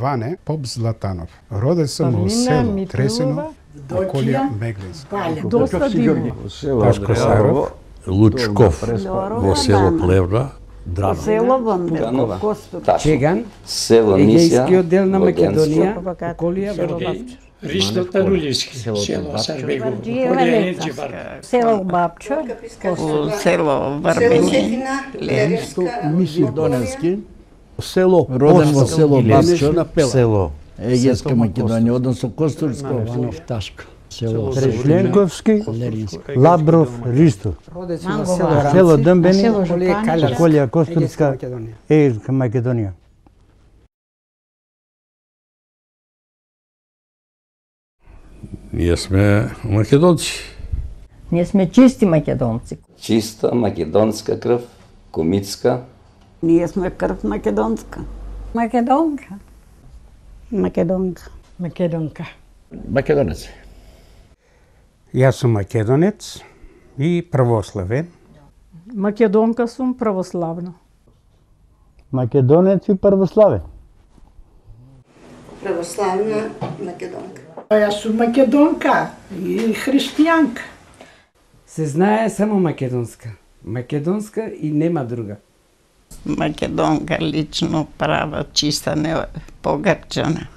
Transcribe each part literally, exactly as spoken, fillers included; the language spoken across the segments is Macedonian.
Ване Поп Златанов. Роден сум во село Тресино, околија Меглинска. Доста дивно. Ташко Саров, Лучков, во село Плевна, Драно. Село Вандеркова. Чеган, Село Егејски Мисија, оддел на Македонија, Воденско. околија Сергеј Ристо Тарулевски, село Сарбегово, Варджиева околија Летавска. Енчевар. Село Бабчо, у село Варбени, Ленско, Македонски, село Роден во село Бабчо, Село Егејска Македонија, односно Костурско, Иванов Ташко, село Трежленковски, Леринско, Лабров, Ристо, Роден сум во Манго село Вар. Рамци, село Дъмбени, село околија Жупан, Калјарска, околија Костурска, Македонија. Егејска Македонија. Ние сме македонци. Ние сме чисти македонци. чиста македонска крв, комитска. Ние сме крв македонска. Македонка. Македонка. Македонка. Македонец. Јас сум македонец и православен. Македонка сум православна. Македонец и православен. Православна македонка. Јас сум македонка и христијанка. Се знае само македонска. Македонска и нема друга. Македонка лично права, чиста, не погрчана.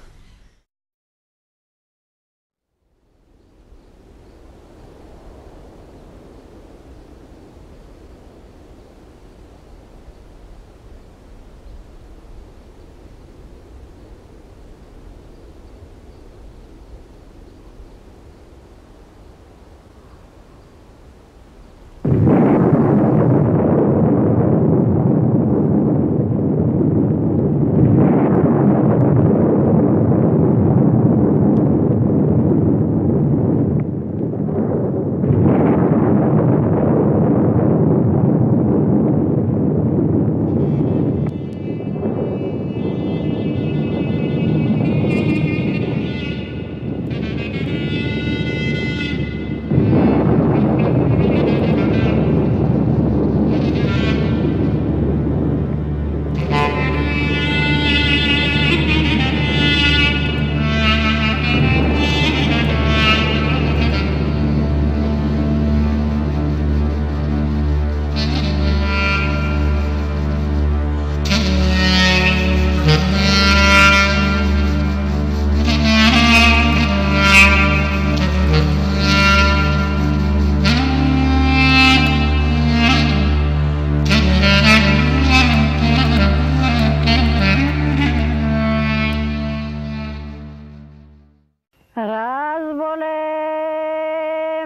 Разболе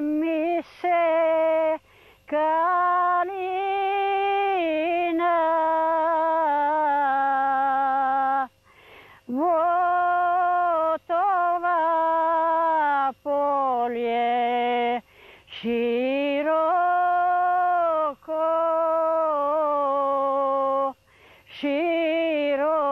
ми се калина во това поле широко, широко.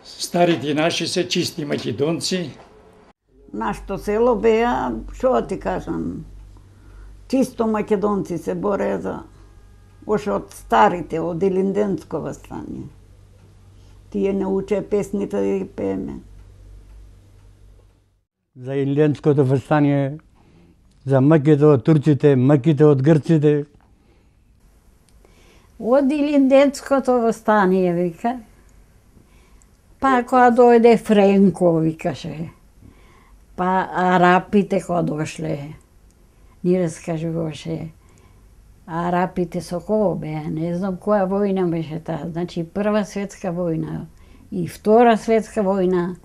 Старите наши се чисти македонци. Нашето село беа, што ти кажам, чисто македонци се боре за, още од старите, од Илинденско востание. Тие не уче песните да ги пееме. За Илинденското востание, за мъките од турците, мъките од грците. Од Илинденското востание, вика. Па кога дојде Френко, викаше. Па арапите кога дошле, ни раскажуваше. Арапите со кого беа, не знам која војна беше таа. Значи прва светска војна и втора светска војна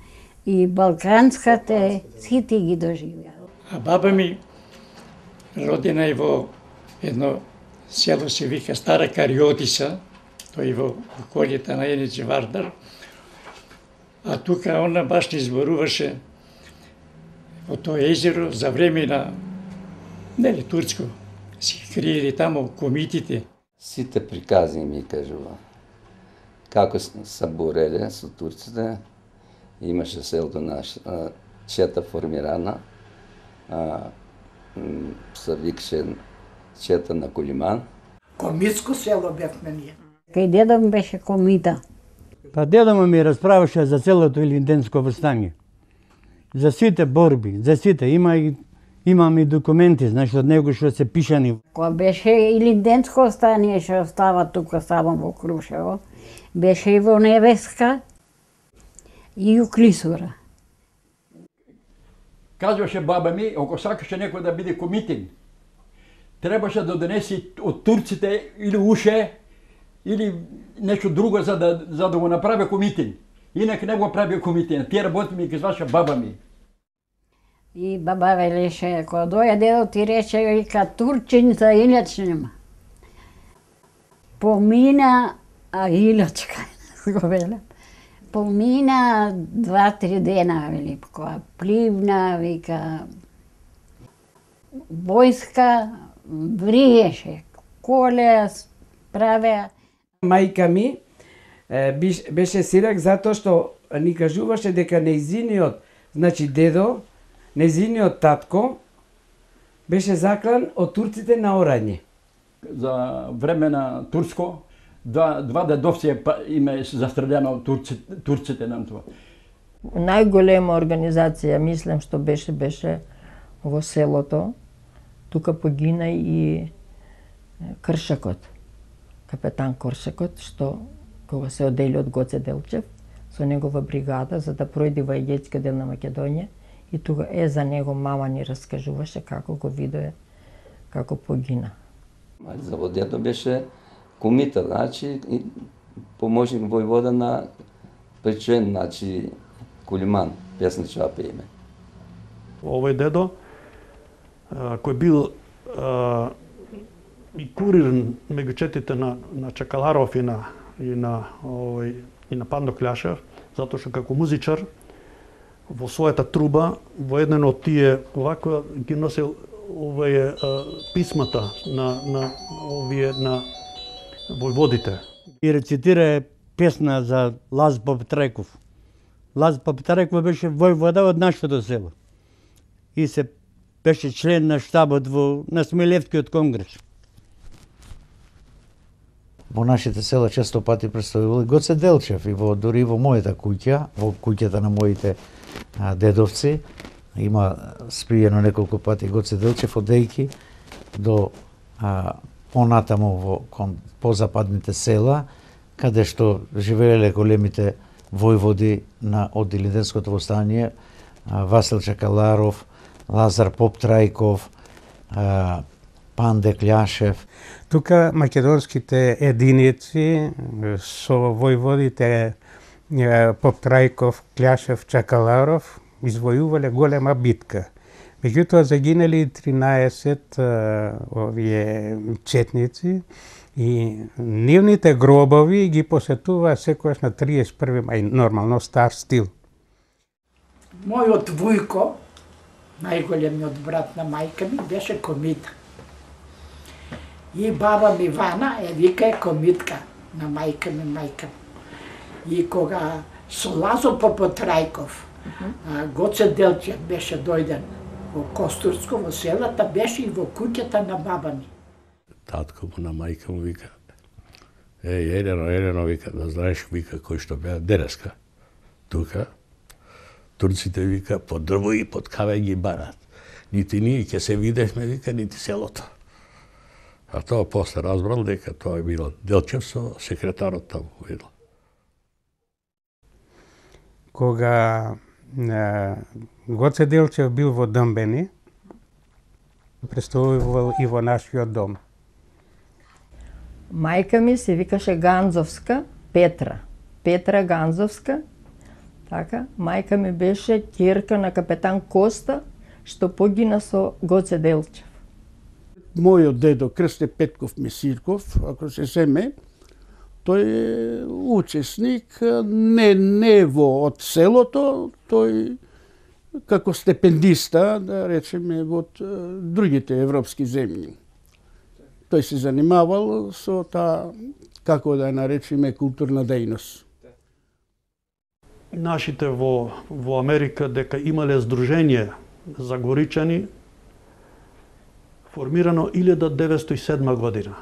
и балканската, сите ги доживеа. А баба ми родена е во едно село се вика Стара Кариотиса, тој во околјата на Еничи Вардар. А тука она баш не зборуваше во тоа езеро за време на, нели, турско. Си криели тамо комитите. Сите прикази ми кажува. Како се бореле со турците, имаше селото на чета формирана, а, се викаше Чета на Колиман. Комитско село бевме ние. Кај дедо ми беше комита. Па дедо ми разправаше за целото Илинденско востание. За сите борби, за сите. Има и имам и документи, значи од него што се пишани. Кога беше Илинденско востание што остава тука само во Крушево, беше и во Невеска и у Клисура. Кажуваше баба ми, ако сакаше некој да биде комитин, требаше да донеси од турците или уше, или нешто друго за да, за да го направи комитин. Инак не го прави комитин. Тие работи ми кажуваше баба ми. И баба велеше, кога доја дедо ти рече, вика, турчиница инач нема. Помина, а илачка, го веле. Помина два-три дена, вели, кога пливна, вика, војска вриеше, коле правеа. Мајка ми беше сирак затоа што ни кажуваше дека нејзиниот, значи дедо, нејзиниот татко беше заклан од турците на Орање. За време на турско, два, два дедовци име застреljено од турците, турците на тоа. Најголема организација, мислам, што беше, беше во селото. Тука погина и Кршакот, капетан Кршакот, што кога се одели од Гоце Делчев, со негова бригада, за да пројде во Егејски дел на Македонија, и тука е за него мама ни раскажуваше како го видое, како погина. За во дедо беше комита, значи, и поможник војвода на Печен, значи, Колиман, песничава име. Овој дедо, кој бил а, и курир меѓу четите на, на Чакаларов и на, и на, овој, и на Пандо Кљашев, затоа што како музичар во својата труба, во еден од тие овако ги носил овие писмата на, на овие на војводите. И рецитира песна за Лаз Паптреков. Лаз Паптреков беше војвода од нашето село. И се беше член на штабот во на Смилевскиот конгрес. Во нашите села често пати представувал Гоце Делчев и во дури во мојата куќа, во куќата на моите а, дедовци, има спиено неколку пати Гоце Делчев одејки до а, понатаму во кон позападните села, каде што живееле големите војводи на од Илинденското востание, а, Васил Чакаларов, Лазар Поптрајков, а, Панде Кљашев. Тука македонските единици со војводите Поптрајков, Кљашев, Чакаларов извојувале голема битка. Меѓутоа загинале тринаесет овие четници и нивните гробови ги посетува секојаш на триесет и први мај, нормално стар стил. Мојот вујко, најголемиот брат на мајка ми, беше комита. И баба ми Вана е вика е комитка на мајка ми, мајка ми. И кога со Лазо Попотрајков, Гоце Делчев беше дојден во Костурско, во селата, беше и во куќата на баба ми. Татко му на мајка му вика, еј, Елено, Елено, вика, да знаеш, вика, кој што беа денеска. Тука, турците, вика, под дрво и под кавеј ги барат. Нити ние ќе се видевме, вика, нити селото. А тоа после разбрал дека тоа е било Делчев со секретарот таму видел. Кога е, Гоце Делчев бил во Дъмбени, представувал и во нашиот дом. Мајка ми се викаше Ганзовска Петра. Петра Ганзовска. Така, мајка ми беше ќерка на капетан Коста, што погина со Гоце Делчев. Мојот дедо Крсте Петков Месирков, ако се семе, тој е учесник не не во од селото, тој како стипендиста, да речеме, во другите европски земји. Тој се занимавал со таа, како да наречеме, културна дејност. Нашите во, во Америка дека имале здружение за горичани, формирано илјада деветстотини и седма година.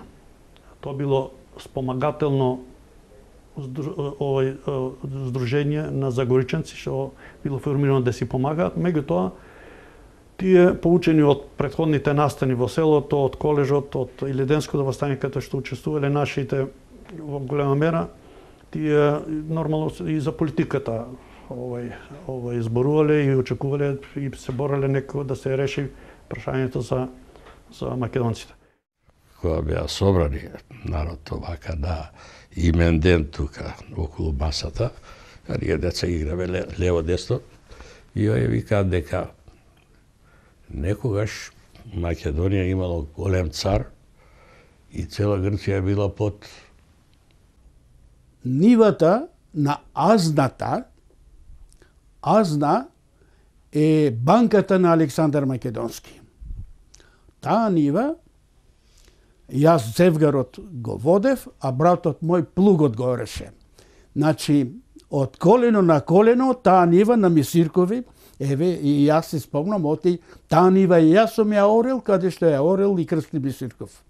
Тоа било спомагателно овој здружение на загоричанци што било формирано да си помагаат. Меѓутоа, тие поучени од претходните настани во селото, од колежот, од Илјаденското востание каде што учествувале нашите во голема мера, тие нормално и за политиката овој овој зборувале и очекувале и се бореле некако да се реши прашањето за за македонците. Кога беа собрани народ овака на имен ден тука околу масата, а ние деца играве лево-десно, и овие викаат дека некогаш Македонија имало голем цар и цела Грција била под нивата на Азната. Азна е банката на Александар Македонски. Таа нива јас Зевгарот го водев, а братот мој плугот го ореше. Значи, од колено на колено, таа нива на Мисиркови, еве, и јас се спомнам, оти, таа нива и јас сум ја орел, каде што ја орел и Крсти Мисирков.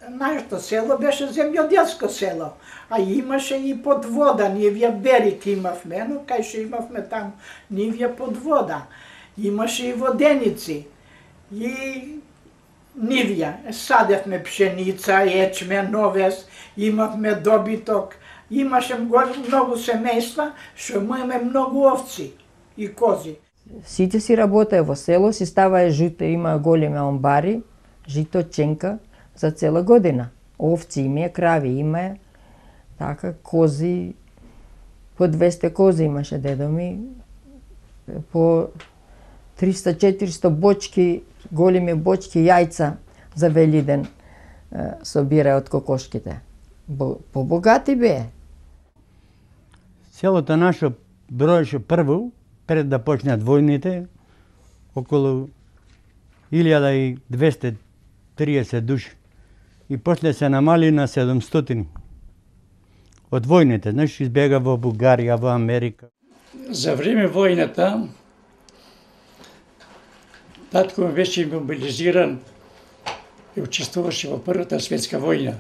Нашето село беше земјоделско село, а имаше и под вода, нивја берик имавме, но кај што имавме там нивја под вода. Имаше и воденици, и нивја. Садевме пшеница, ечмен, овес, имавме добиток, имаше многу семејства, што имаме многу овци и кози. Сите си работеа во село, си ставаа жито, има големи амбари, жито, ченка, за цела година. Овци имеја, крави имеја, така, кози, по двесте кози имаше дедо ми, по триста-четиристо бочки, големи бочки јајца за Велиден собира од кокошките. Побогати бе. Селото наше броеше прво, пред да почнат војните, околу илјада и двесте и триесет души. И после се намали на седумстотини. Од војните, знаеш, избега во Бугарија, во Америка. За време војната, татко ми беше мобилизиран и учествуваше во Првата светска војна.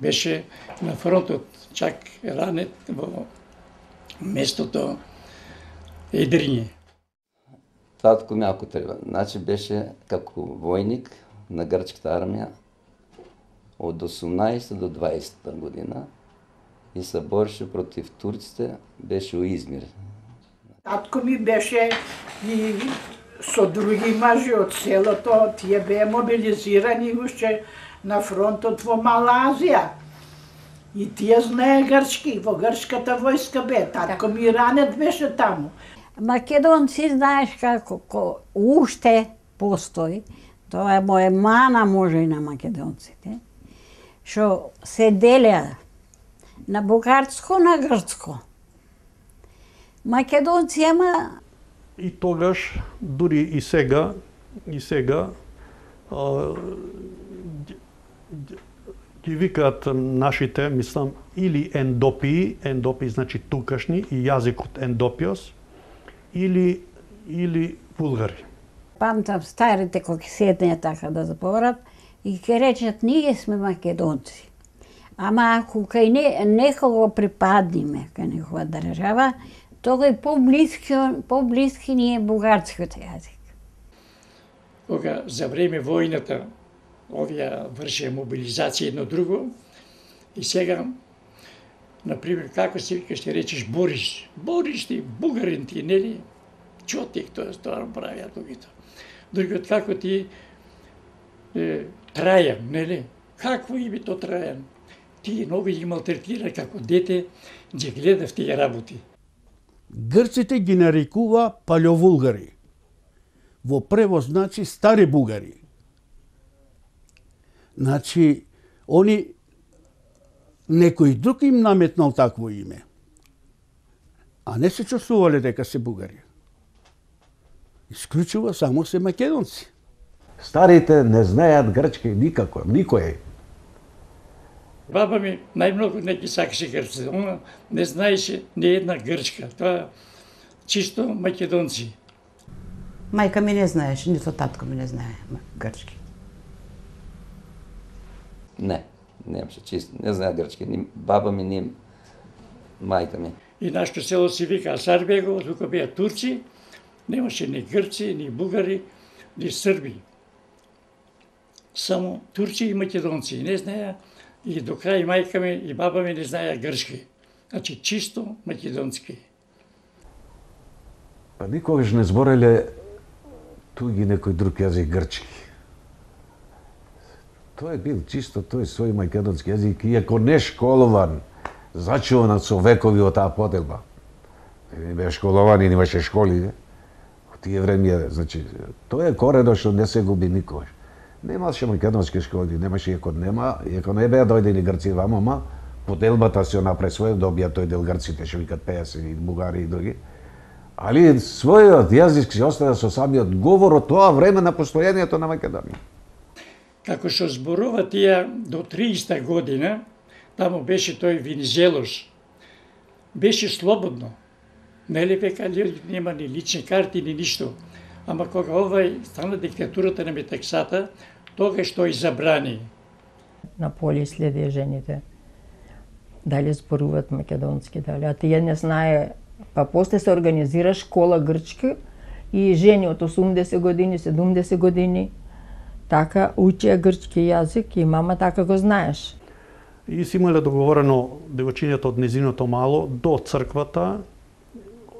Беше на фронтот, чак ранет во местото Едриње. Татко ми ако треба, значи беше како војник на грчката армија од осумнаесетта до дваесетта година и се бореше против турците, беше у Измир. Татко ми беше и со други мажи од селото, тие беа мобилизирани уште на фронтот во Мала Азија. И тие знае грчки, во грчката војска бе. Татко ми ранет беше таму. Македонци, знаеш како, ко, уште постои, тоа е моја мана може и на македонците, што се делеа на бугарско, на грцко. Македонци ема... И тогаш, дури и сега, и сега, а, ги викаат нашите, мислам, или ендопии, ендопии значи тукашни, и јазикот ендопиос, или, или вулгари. Памтам старите кои седнеа така да запорат и ке речат ние сме македонци. Ама ако кај не, некого припадниме кај некога држава, тога е по-блиски, по-блиски ни е бугарскиот јазик. Кога за време војната овие вршеа мобилизација едно друго и сега, например, како се вика, ще речеш Бориш. Бориш ти, бугарин ти, нели? Чотик, тоа тоа правиа другите. Другиот како ти е, Трајан, нели? Какво име то Трајан? Ти многу ги малтретира како дете, ги гледав тие работи. Грците ги нарекува палеовулгари. Во превод значи стари бугари. Значи, они некој друг им наметнал такво име. А не се чувствувале дека се бугари. Исклучува само се македонци. Старите не знаат грчки никако, никој. Баба ми најмногу не ги сакаше грците. Она не знаеше ни една грчка. Тоа чисто македонци. Мајка ми не знаеше, нито татко ми не знае грчки. Не, немаше чисто, не знае грчки, ни баба ми, ни мајка ми. И нашето село се вика Асарбегово, тука беа турци, немаше ни грци, ни бугари, ни срби. Само турци и македонци, не знаеа, и до крај мајка ми и баба ми не знаеа грчки. Значи чисто македонски. Па никогаш не збореле туги некој друг јазик грчки. Тој бил чисто тој свој македонски јазик, иако не школован, зачуван со векови од таа поделба. Не беа школовани, немаше школи. Во тие време, значи, тоа е корено што не се губи никогаш. Немаше македонски школи, немаше, иако нема, иако не беа дојдени грци вама, ма поделбата се напресвоја, добија тој дел грците, што викат пејаси и бугари и други. Али својот јазик се остава со самиот говор од тоа време на постојањето на Македонија. Како што зборува тие до триесета година, таму беше тој Венизелос, беше слободно. Нели века нема ни лични карти, ни ништо. Ама кога овај стана диктатурата на Метаксата, тогаш тој забрани. На поле следеа жените. Дали зборуваат македонски, дали. А тие не знае. Па после се организира школа грчка и жени од осумдесет години, седумдесет години така учеа грчки јазик и мама така го знаеш. И си имале договорено девојчињата од незиното мало до црквата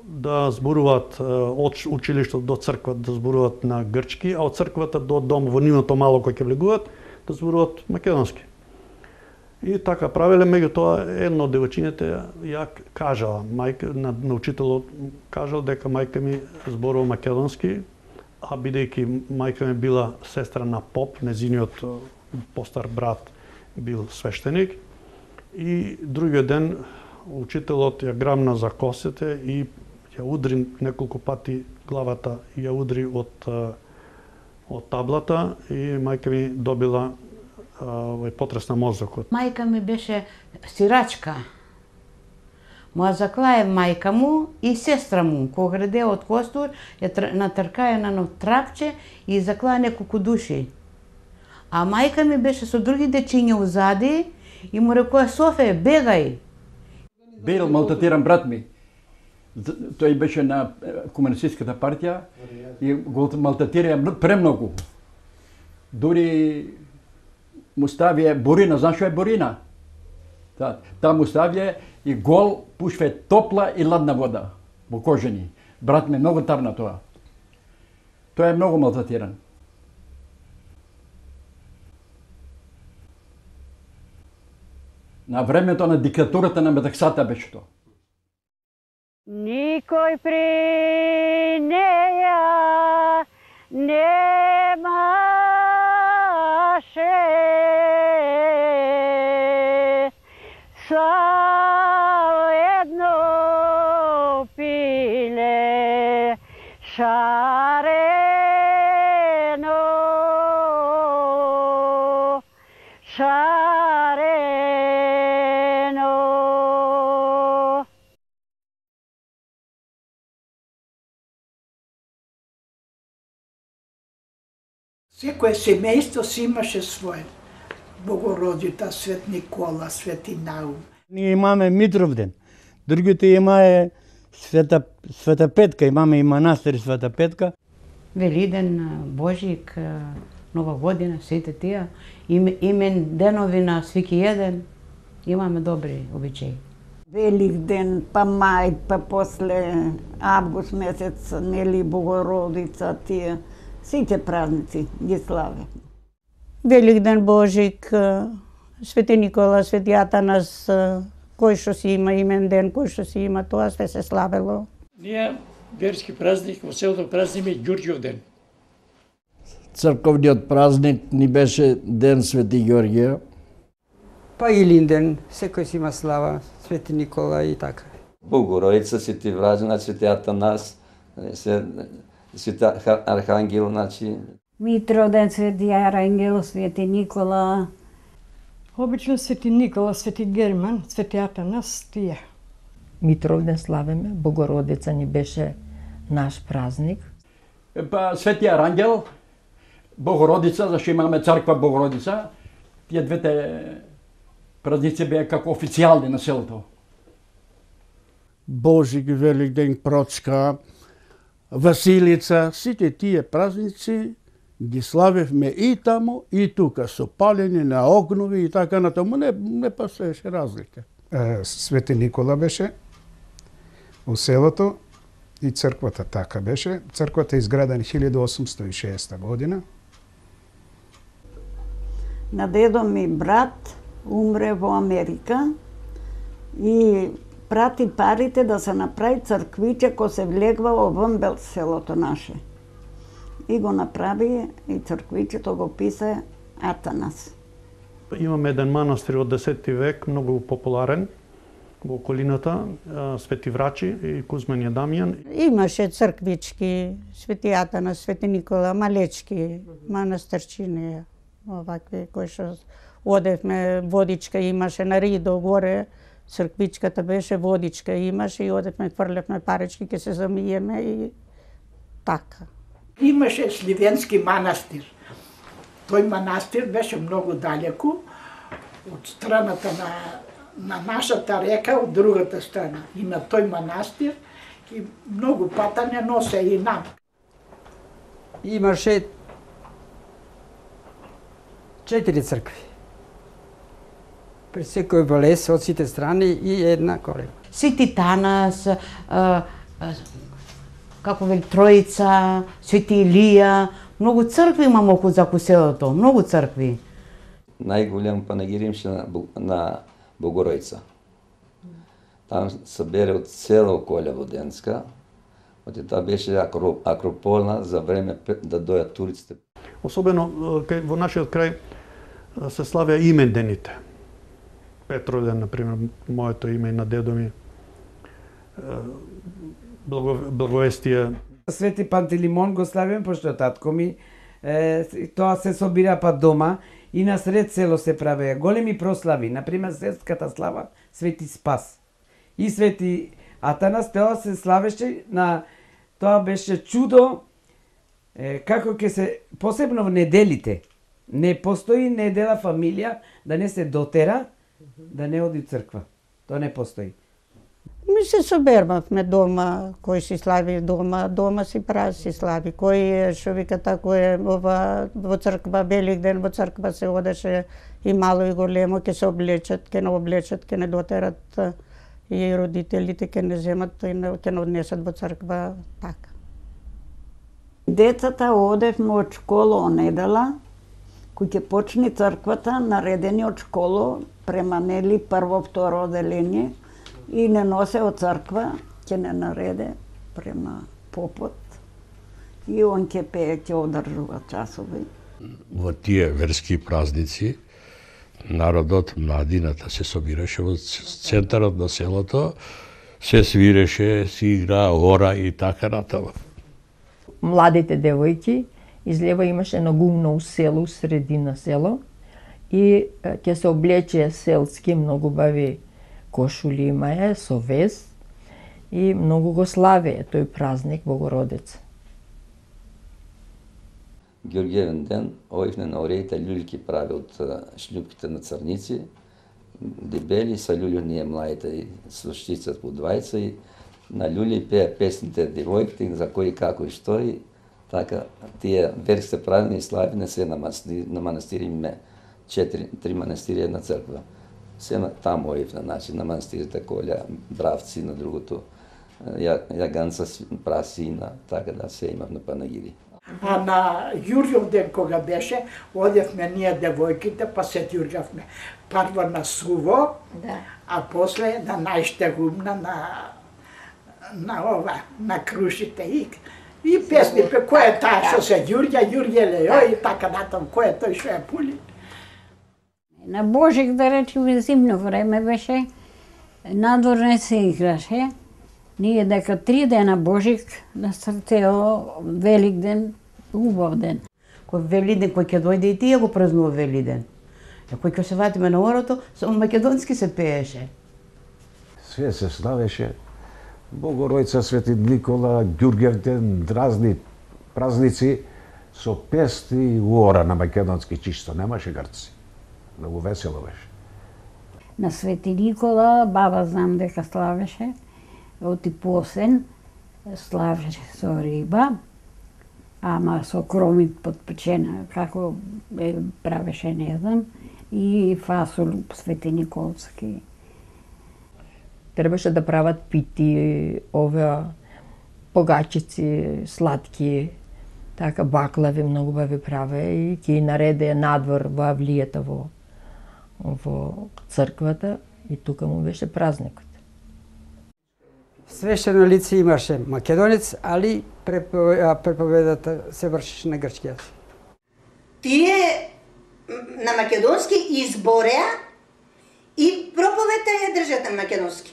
да зборуваат од училиштето до црквата да зборуваат на грчки, а од црквата до дом во нивното мало кој ќе влегуваат да зборуваат македонски. И така правеле, меѓутоа едно од девојчињата ја кажала, мајка на, на учителот кажал дека мајка ми зборува македонски, а бидејќи мајка ми била сестра на поп, незиниот постар брат бил свештеник, и другиот ден учителот ја грамна за косите и ја удри неколку пати главата, ја удри од од таблата и мајка ми добила овој потрес на мозокот. Мајка ми беше сирачка. Моја заклае мајка му и сестра му, кога граде од костур, ја натркаја на едно трапче и заклаа неколку души. А мајка ми беше со други дечиња узади и му рекоа: Софе, бегај. Бил малтретиран брат ми. Тој беше на комунистичката партија и го малтретираа премногу. Дури му ставија бурина, знаеш што е бурина? Та, та му ставија и гол пушве топла и ладна вода во кожени. Брат ми многу тарна тоа. Тоа е многу малтретиран. На времето на диктатурата на Метаксата беше тоа. Никој при неја немаше само едно пиле шарено, шарено. Секое семејство си имаше своје. Богородица, Свет Никола, Свети Наум. Ние имаме Митровден. Другите имае Света, Света Петка, имаме и манастир Света Петка. Велиден, Божик, Нова година, сите тие, имен денови на свеки еден, имаме добри обичаи. Велик ден, па мај, па после август месец, нели Богородица, тие, сите празници ги славе. Велик ден Божик, Свети Никола, Свети Атанас, кој што си има имен ден, кој што си има, тоа све се славело. Ние верски празник во селото празниме Ѓурѓов ден. Црковниот празник ни беше ден Свети Ѓорѓија. Па Илин ден, секој си има слава, Свети Никола и така. Богородица, Свети Враđan, Свети Атанас, Свети Архангел, значи. Митровден, Свети Арангел, Свети Никола. Обично Свети Никола, Свети Герман, Свети Атанас, тие. Митровден славиме, Богородица ни беше наш празник. па Свети Арангел, Богородица, зашто имаме црква Богородица, тие двете празници беа како официјални на селото. Божик, Великден, Процка, Василица, сите тие празници ги славевме и таму и тука, со палење на огнови и така натаму, не, не постоеше разлика. Свети Никола беше у селото и црквата така беше. Црквата е изградена хилјада осумстотини и шеста година. На дедо ми брат умре во Америка и прати парите да се направи црквиче кој се влегвало вон бел селото наше. И го направи и црквичето го писа Атанас. Имаме еден манастир од десети век, многу популарен во околината, Свети Врачи и Кузмен и Дамјан. Имаше црквички, Свети Атанас, Свети Никола, малечки, манастирчини, овакви кои што одевме, водичка имаше на Ридо горе, црквичката беше, водичка имаше и одевме, фрлевме парички, ке се замиеме и така. Имаше Сливенски манастир. Тој манастир беше многу далеку од страната на, на нашата река, од другата страна. И на тој манастир и многу пата не носе и нам. Имаше четири цркви. При секој влез од сите страни и една колема. Свети Танас, а, а, како вели Троица, Свети Илија, многу цркви имам околу заку селото, многу цркви. Најголем панагир имаше на, на Богородица. Там се бере од цела околја Воденска, од таа беше акрополна за време да дојат турците. Особено во нашиот крај се славеа имендените. Петровден, например, моето име и на дедо ми. Благовестие. Свети Пантелеймон го славим, пошто татко ми, е, тоа се собира па дома и на сред село се правеа големи прослави, например светската слава Свети Спас. И Свети Атанас, тоа се славеше на, тоа беше чудо, е, како ќе се, посебно в неделите, не постои недела фамилија да не се дотера, да не оди црква. Тоа не постои. Ми се собермавме дома, кој си слави дома, дома си прави си слави. Кој што вика тако е ова во црква Великден, во црква се одеше и мало и големо, ќе се облечат, ќе не облечат, ќе не дотерат и родителите ќе не земат и ќе не однесат во црква така. Децата одевме од школа онедела, кој ќе почне црквата, наредени од школа, преманели прво, второ оделение, и не носе од црква, ќе не нареде према попот и он ќе пее, ќе одржува часови. Во тие верски празници народот, младината се собираше во центарот на селото, се свиреше, се игра ора и така натаму. Младите девојки, излева имаше едно гумно село, средина село, и ќе се облече селски, многу бави кошули имае со вез и многу го славее тој празник Богородица. Георгиевен ден, овивне на ореите љулјки прави од шлјупките на црници, дебели са љулју ние младите и слушчицат по двајца и на љулји пеа песните девојките за кои како и што и така тие верските празни и славине се на манастири, на манастири име четири, три манастири една црква. Се на таму оив на начин, на манастирите Колја, Бравци, на другото, ја, Јаганца, Прасина, така да се имав на панагири. А на Јурјов ден кога беше, одевме ние девојките, па се ѓурѓавме. Прво на Суво, да. А после на најштегумна, на, на ова, на Крушите и и песни, пе кој е таа што се ѓурѓа, ѓурѓеле, и така натам, кој е тој што е пули. На Божик, да речеме, зимно време беше, надвор не се играше. Ние дека три дена Божик, на цел Великден, убав ден. Кој Велиден, кој ќе дојде и тие го празнува Велиден. А кој ќе се ватиме на орото, само македонски се пееше. Све се славеше. Богородица, Свети Никола, Ѓурѓевден, разни празници со песни и уора на македонски чисто, немаше грци. Многу весело беше. На Свети Никола баба знам дека славеше, оти посен, славеше со риба, ама со кромит подпечена, како е правеше, не знам, и фасол светениколски. Требаше да прават пити, оваа погачици, сладки, така баклави многу бави праве и ќе нареде надвор во авлијата во во црквата и тука му беше празникот. Свештено лице имаше македонец, али преповедата се вршеше на грчки јазик. Тие на македонски избореа и проповедта ја држат на македонски.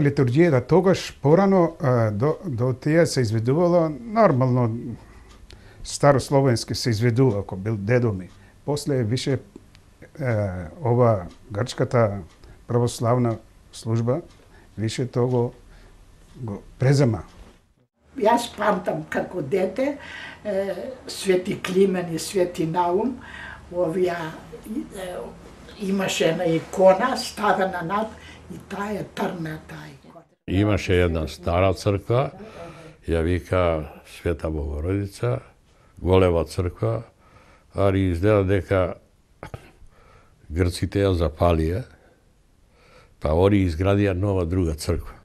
Литургијата тогаш порано до, до тие се изведувало нормално старословенски се изведува, ако бил дедо ми. После више е, ова грчката православна служба више того го презема. Јас памтам како дете е, Свети Климен и Свети Наум, овија е, имаше една икона ставена над и таа е трна таа икона. Имаше една стара црква, ја вика Света Богородица, голема црква, али изгледа дека грците ја запалија, па они изградија нова друга црква.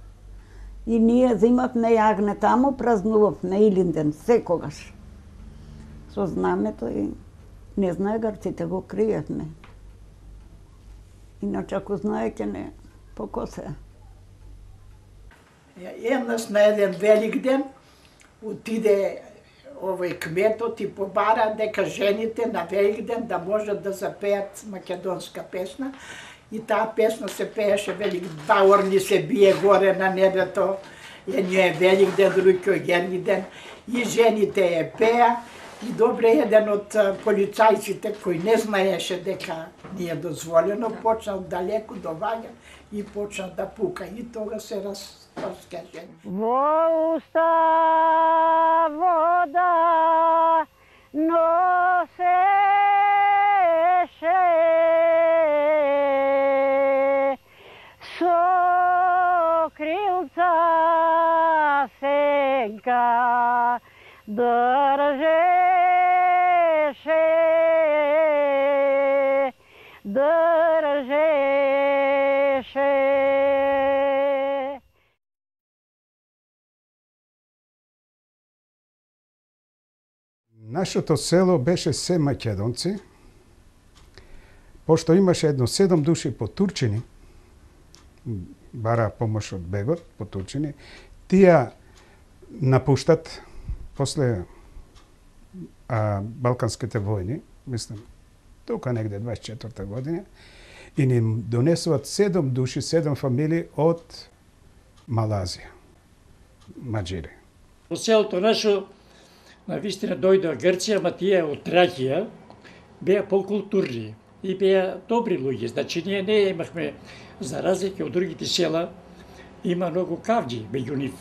И ние зимавме јагне таму, празнувавме Илинден секогаш. Со знамето и не знае грците го криевме. Иначе ако знае ќе не покосе. Еднаш на еден велик ден отиде овој кметот и побара дека жените на велик ден да можат да запеат македонска песна. И таа песна се пееше велик баорни се бие горе на небето. Едниот е велик ден, другиот герни ден. И жените ја пеа. И добре еден од полицајците кој не знаеше дека не е дозволено, почнал далеку доваѓа и почна да пука. И тога се раз, раскаже. Во уста вода носеше со крилца сенка држеше, држеше. Нашето село беше се македонци, пошто имаше едно седум души потурчени, бара помош од бегот, потурчени, тие напуштат после а, Балканските војни, мислам, тука негде дваесет и четврта година, и ни донесуват седум души, седум фамилии од Малазија, маџири. Во селото наше на вистина дојде од Грција, ама тие од Тракија беа покултурни и беа добри луѓе. Значи ние не имахме, за разлика од другите села, има многу кавџи меѓу нив.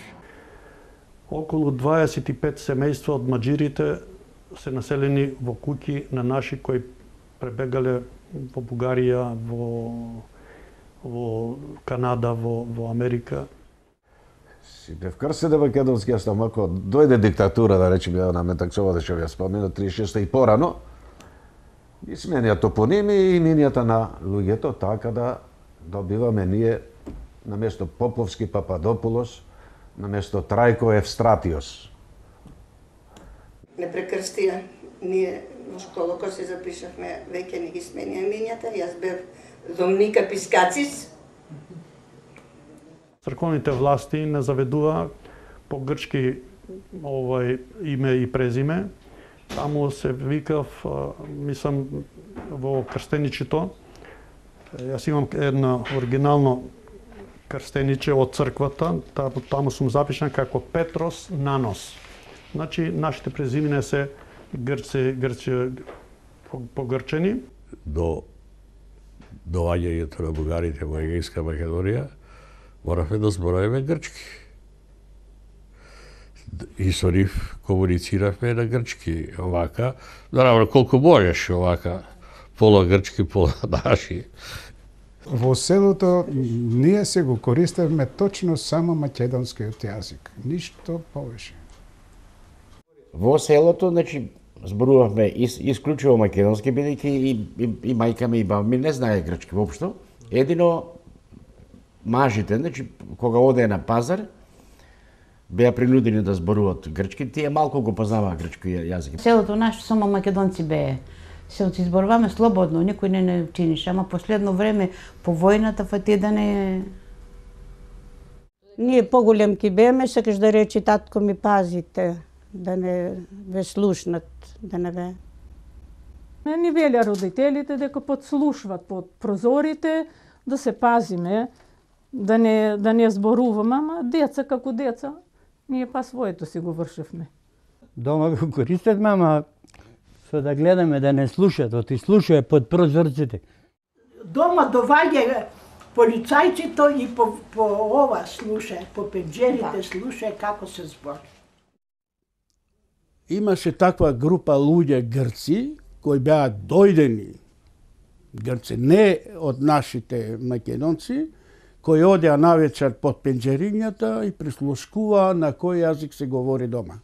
Околу дваесет и пет семејства од маџирите се населени во куќи на наши кои пребегале во Бугарија, во, во Канада, во, во Америка. Си бев крстен македонски, јас там ако дојде диктатура, да речеме, на Метакцова да ќе ја спомнено, триесет и шеста и порано, и сменија топоними и имињата на луѓето, така да добиваме ние на место Поповски Пападопулос, на место Трајко Евстратиос. Не прекрстија. Ние во школа кога се запишавме, веќе не ги сменија имињата. Јас бев Домника Пискацис. Црковните власти не заведува по грчки овој име и презиме. Таму се викав, мислам, во крстеничето. Јас имам едно оригинално крстениче од црквата, таму сум запишан како Петрос Нанос. Значи, нашите презимина се грци, грци погрчени. До доаѓањето на бугарите во Егејска Македонија, моравме да зборуваме грчки. и со нив комунициравме на грчки, овака, наравно колку можеш овака, пола грчки, пола наши. Во селото ние се го користевме точно само македонскиот јазик, ништо повеќе. Во селото, значи, зборувавме ис, исклучиво македонски, бидејќи и, и, и мајка ми и баба ми не знае грчки воопшто. Едино мажите, значи, кога оде на пазар, беа принудени да зборуваат грчки, тие малку го познаваа грчки јазик. Селото наше само македонци бее. Се си зборуваме слободно, никој не не чинише, ама последно време по војната фати да не... Ние поголемки беме, сакаш да речи татко ми пазите, да не ве слушнат, да не ве. Не ни велја родителите дека подслушват под прозорите, да се пазиме, да не, да не зборуваме, ама деца како деца, ние па своето си го вршевме. Дома го користевме, ама со да гледаме да не слушат, оти слушае под прозорците. Дома доваѓа полицајците и по, по ова слуша, по пенџерите слуша како се збори. Имаше таква група луѓе грци кои беа дојдени грци, не од нашите македонци, кои одеа навечер под пенџерињата и прислушкуваа на кој јазик се говори дома.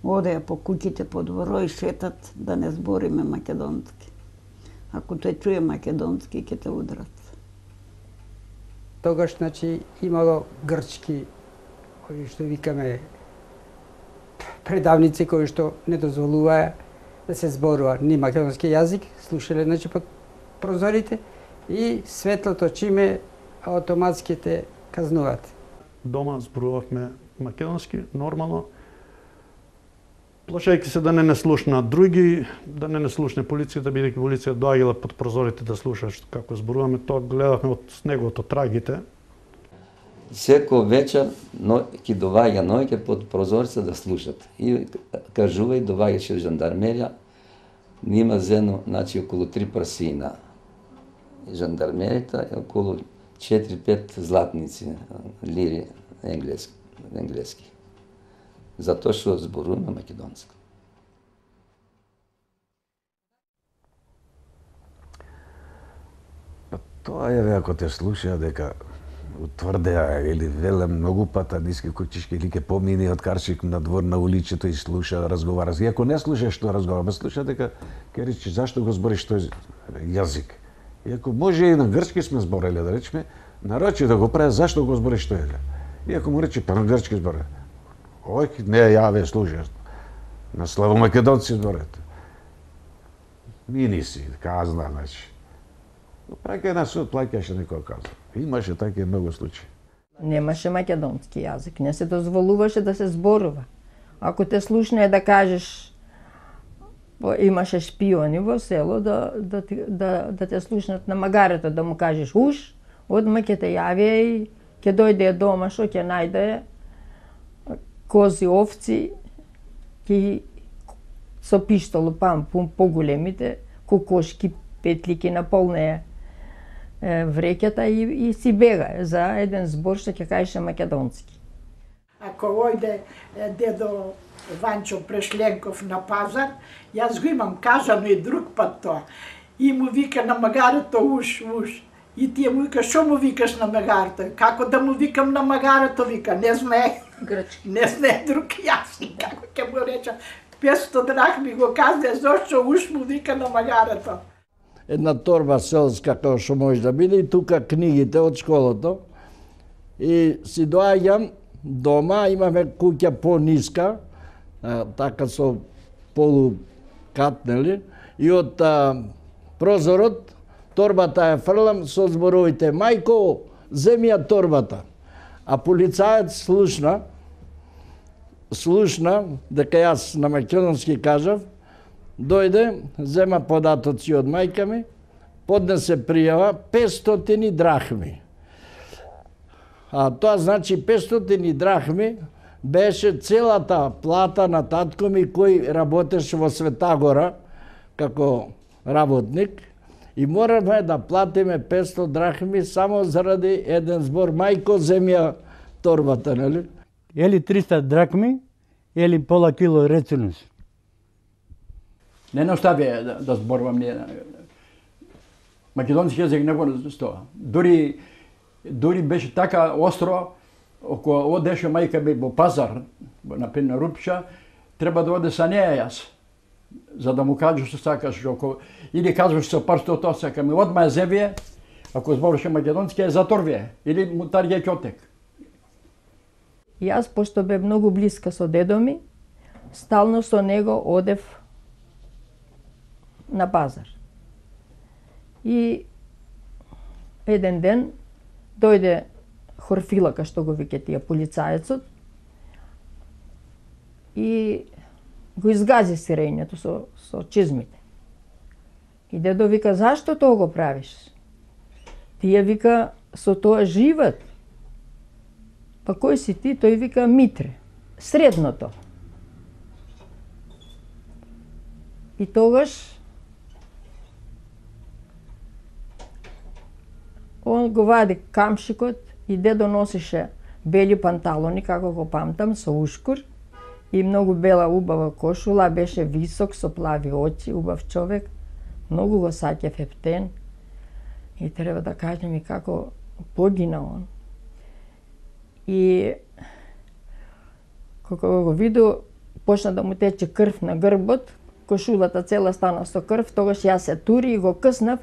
Одеа по куќите по дворо и шетат да не збориме македонски. Ако тој чуе македонски, ќе те удрат. Тогаш, значи, имало грчки, кои што викаме предавници, кои што не дозволуваа да се зборува ни македонски јазик, слушале, значи, под прозорите и светлото чиме автоматски те казнуваат. Дома зборувавме македонски, нормално, плашајќи се да не не слушна други, да не не слушне полицијата, бидејќи полиција доаѓала под прозорите да слуша како зборуваме, тоа гледавме од неговото трагите. Секој вечер но, ќе доваѓа ноќе под прозорица да слушат. И кажува и доваѓаше жандармерија, нима зено, значи околу три прасина. И жандармеријата е околу четири-пет златници, лири енглески. енглески. Затоа што зборуваме македонски. Па тоа е, ако те слуша дека утврдеа или веле многу пата ниски кучишки или ке помини од карчик на двор на уличето и слуша, разговара. И ако не слушаш што разговара, ме слуша дека ќе рече зашто го збориш тој јазик. И ако може и на грчки сме збореле, да речеме, нарочи да го прави зашто го збориш тој јазик. И ако му рече па на грчки зборе, ој, не ја ве слушаш. На славомакедонци зборат. Мини си, казна, значи. Праќај на суд, плаќаше некој каза. Имаше такива многу случаи. Немаше македонски јазик, не се дозволуваше да се зборува. Ако те слушне да кажеш, имаше шпиони во село, да, да, да, да те слушнат на магарето, да му кажеш уш, одма ќе те јави и ќе дојде дома, што ќе најде кози, овци, ки со пиштол пам поголемите, кокошки, петлики наполнеа вреќата и, и си бега за еден збор што ќе кажеше македонски. Ако ојде дедо Ванчо Прешленков на пазар, јас го имам кажано и друг пат тоа. И му вика на магарето уш, уш. И тие му вика, шо му викаш на магарето? Како да му викам на магарето, вика, не знае. Грчки. Не знае друг јазик, како ќе му речам. петстотини драхми го казне, зошто уш му вика на магарето. Една торба селска, како што може да биде, и тука книгите од школото. И си доаѓам дома, имаме куќа по-ниска, така со полукат, нели? И од а, прозорот, торбата ја фрлам со зборовите, мајко, земи ја торбата. А полицајот слушна, слушна, дека јас на македонски кажав, дојде, зема податоци од мајка ми, поднесе пријава петстотини драхми. А тоа значи петстотини драхми беше целата плата на татко ми кој работеше во Светагора како работник и моравме да платиме петстотини драхми само заради еден збор, мајко земја торбата, нели? Или триста дракми, или пола кило рецинус. Не настави да, да зборувам ние. Македонски јазик не го стоа. Дури дури беше така остро, ако одеше мајка ми во пазар, на Пенна Рупча, треба да оде са неја јас. За да му кажеш што сакаш, ако или кажеш со парсто тоа сака ми одма зевие, ако зборуваше македонски е заторвие или му тарѓа ќотек. Јас, пошто бе многу блиска со дедо ми, стално со него одев на пазар. И еден ден дојде Хорфилака, што го вике тие полицаецот, и го изгази сирењето со, со чизмите. И дедо вика, зашто тоа го правиш? Тие вика, со тоа живат. Па кој си ти? Тој вика, Митре, средното. И тогаш он го вади камшикот и дедо носише бели панталони, како го памтам, со ушкур и многу бела убава кошула, беше висок, со плави очи, убав човек, многу го саќав ептен и треба да кажем и како погина он. И кога го виду, почна да му тече крв на грбот, кошулата цела стана со крв, тогаш јас се тури и го къснав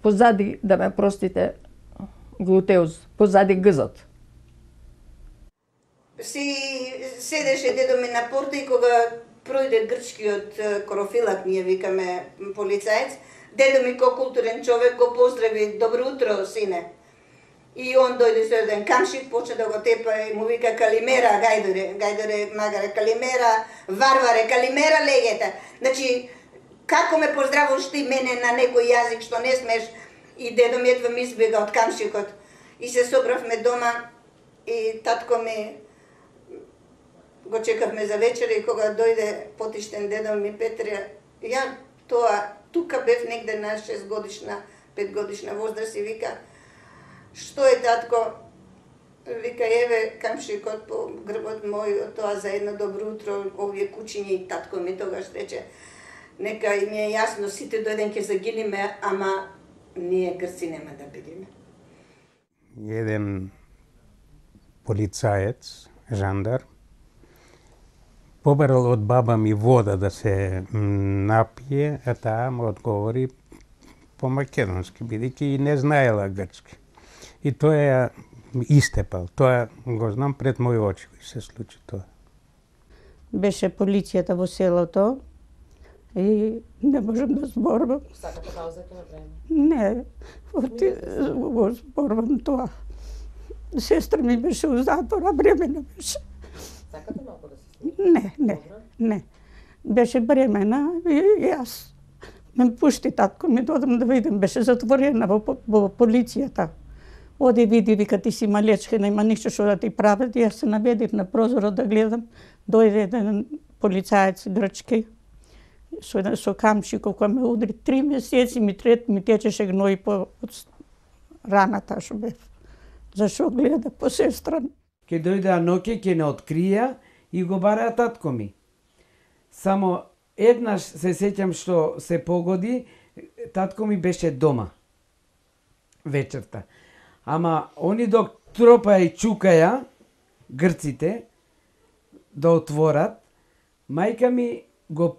позади, да ме простите, глутеуз, позади гзот. Си седеше дедо ми на порта и кога пројде грчкиот корофилак, ние викаме полицаец, дедо ми ко културен човек го поздрави, добро утро, сине. И он дојде со еден камшик, почна да го тепа и му вика Калимера, гајдоре, гајдоре, магаре, Калимера, варваре, Калимера, легета. Значи, како ме поздравуваш ти мене на некој јазик што не смеш? И дедо ми едва ми избега од камшикот. И се собравме дома и татко ми го чекавме за вечера и кога дојде потиштен дедо ми Петре, ја тоа, тука бев негде на шест годишна, пет годишна возраст и вика, што е татко? Вика, еве камшикот по грбот мој, тоа за едно добро утро, овие кучиња и татко ми тогаш рече, нека и ми е јасно, сите до еден ќе загиниме, ама ние грци нема да бидеме. Еден полицаец, жандар, побарал од баба ми вода да се напие, а таа му одговори по македонски, бидејќи и не знаела грчки. И тоа ја истепал. Тоа го знам пред мои очи се случи тоа. Беше полицијата во селото и не можам да зборувам. Сакате да узете време? Не, оти, го зборувам тоа. Сестра ми беше у затвора, бремена беше. Сакате малку да се слушате? Не, не, не. Беше бремена и јас ме пушти татко ми додам да видам, беше затворена во, во полицијата. Оди види, вика, ти си малечка, нема ништо што да ти прават. Јас се наведив на прозорот да гледам. Дојде еден полицаец грчки со, со камшик кој ме удри. Три месеци ми трет ми течеше гној по раната што бев. Зашо гледа по сестра? Ке дојде Аноке, ке не открија и го бараа татко ми. Само еднаш се сеќам што се погоди, татко ми беше дома вечерта. Ама они док тропаја и чукаја, грците, да отворат, мајка ми го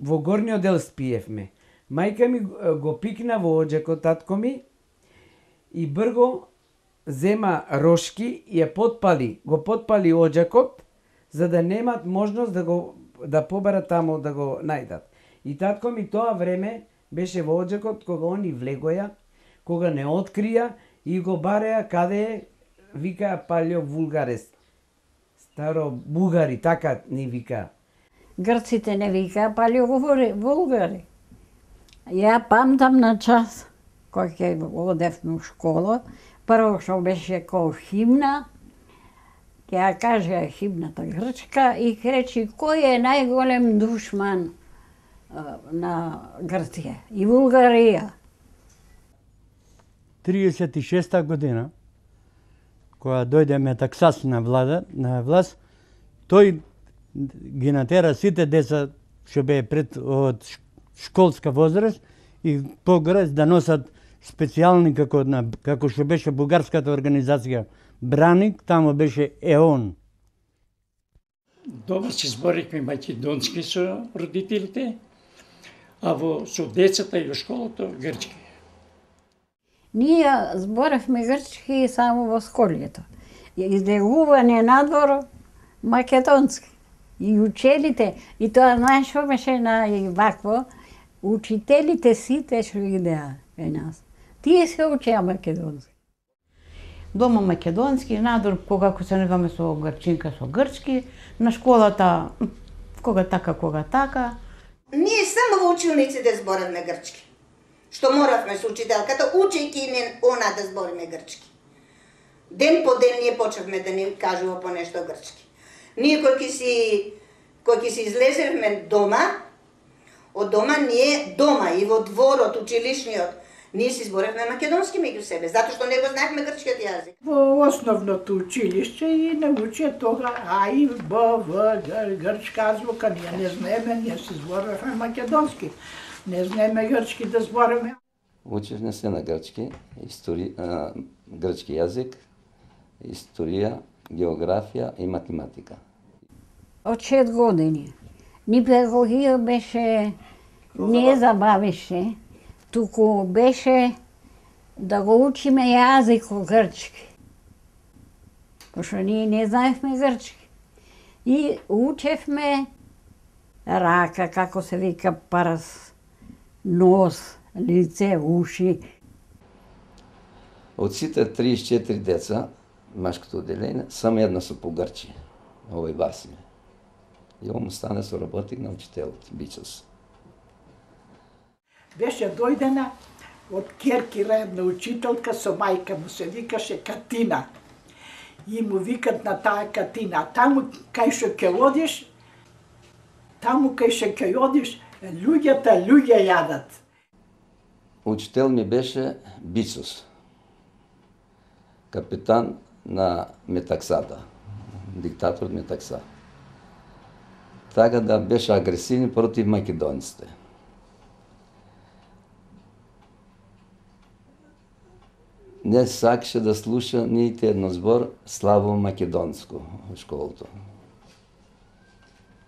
во горниот дел спиевме. Мајка ми го пикна во оџакот татко ми и брго зема рошки и ја потпали, го потпали оџакот за да немат можност да го да побарат таму да го најдат. И татко ми тоа време беше во оџакот кога они влегоја, кога не открија и го бареа каде е, вика палјо вулгарес. Старо бугари, така ни вика. Грците не вика палјо вулгари. Ја памтам на час, кој ќе одевме у школа, прво што беше кој химна, ќе ја кажа химната грчка и речи кој е најголем душман на Грција и Булгарија. триесет и шеста година, кога дојде Метаксас на влада, на власт, тој ги натера сите деца што беа пред од школска возраст и погоре да носат специјални како на како што беше бугарската организација Браник, тамо беше ЕОН. Дома се зборихме македонски со родителите, а во со децата и во школата грчки. Ние зборевме грчки само во школето. Излегување надвор македонски. И учелите, и тоа знаеш што беше на и вакво, учителите сите што идеа кај нас. Тие се учеа македонски. Дома македонски, надвор кога се негаме со грчинка со грчки, на школата кога така, кога така. Ние само во училниците зборевме грчки. Што моравме со учителката, учејќи не она да збориме грчки. Ден по ден ние почнавме да ни кажува по нешто грчки. Ние кој ќе си кој ќе си излезевме дома, од дома ние дома и во дворот училишниот, ние си зборевме македонски меѓу себе, затоа што не го знаевме грчкиот јазик. Во основното училиште и научија тога А и Б, В, Г, грчка азбука, ние не знаеме, ние си зборевме македонски. Не знаеме грчки да збореме. Учевме се на грчки, истори, а, грчки јазик, историја, географија и математика. Од шест години. Ни педагогија беше, не забавеше, туку беше да го учиме јазикот грчки. Пошто ние не знаевме грчки. И учевме рака, како се вика прс, нос, лице, уши. Од сите триесет и четири деца, машкото одделение, само една со погрчи, овој Василе. И он стане со работник на учителот, Бичос. Беше дојдена од Керкира една учителка со мајка му, се викаше Катина. И му викат на таа Катина, таму кај што ќе одиш, таму кај што ќе одиш, луѓата луѓе јадат. Учител ми беше Бичос, капитан на Метаксата, диктатор Метакса. Така да беше агресивни против македонците. Не сакаше да слуша нити едно збор слабо македонско во школото.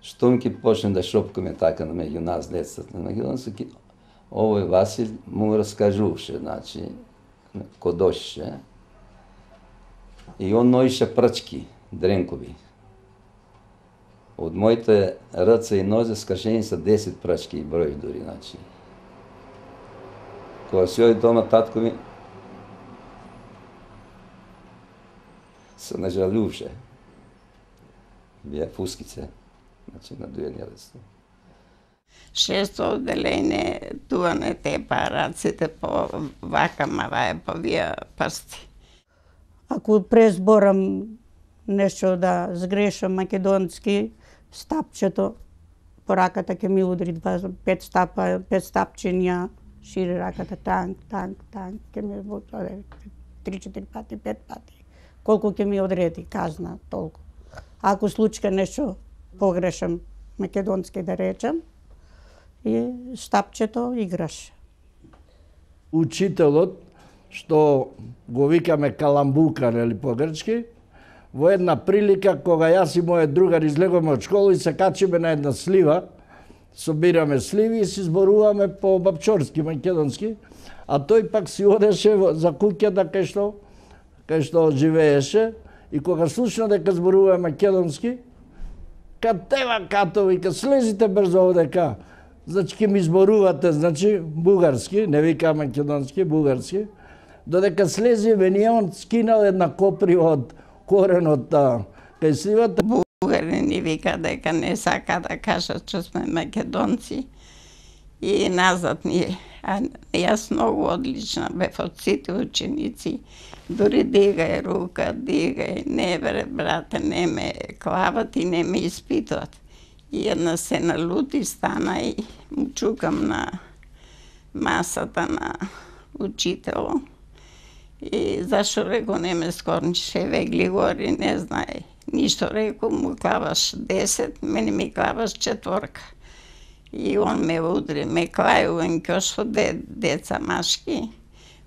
Штом ќе почне да шопкаме така на меѓу нас децата на македонски, овој Васил му раскажуваше, значи, кодошеше. И он ноише прачки, дренкови. Од моите ръце и нозе скашени са десет прачки и број дури, значи. Кога си оди дома, татко ми се нажалуваше. Бија фускице, значи на дујање рецно. Шесто одделение, туа не те па раците по вака маваја по вија прсти. Ако презборам нешто да сгрешам македонски, стапчето по раката ќе ми удри два, пет стапа, пет стапчиња, шири раката, танк, танк, танк, ќе ми оде три-четири пати, пет пати. Колку ќе ми одреди казна, толку. Ако случка нешто погрешам македонски да речам, и стапчето играш. Учителот, што го викаме каламбука, нели по грчки, во една прилика кога јас и мојот другар излегуваме од школа и се качиме на една слива, собираме сливи и си зборуваме по бапчорски, македонски, а тој пак си одеше за куќата кај што кај што живееше и кога слушна дека зборуваме македонски, катева като вика слезите брзо овдека. Значи ќе ми зборувате, значи бугарски, не вика македонски, бугарски. Додека слезиме, ние он скинал една коприва од коренот кај сливата. Бугари ни вика дека не сака да кажат че сме македонци и назад ние. А јас многу одлична бев од сите ученици. Дори дигај рука, дигај, не бре, брате, не ме клават и не ме испитуват. И една се налути, стана и му чукам на масата на учитело. И зашо рекол немец корнче вегли гори, не знае. Ништо рекол, му клаваш десет, мене ми клаваш четворка. И он ме удри, ме клај у ќош со де, деца машки,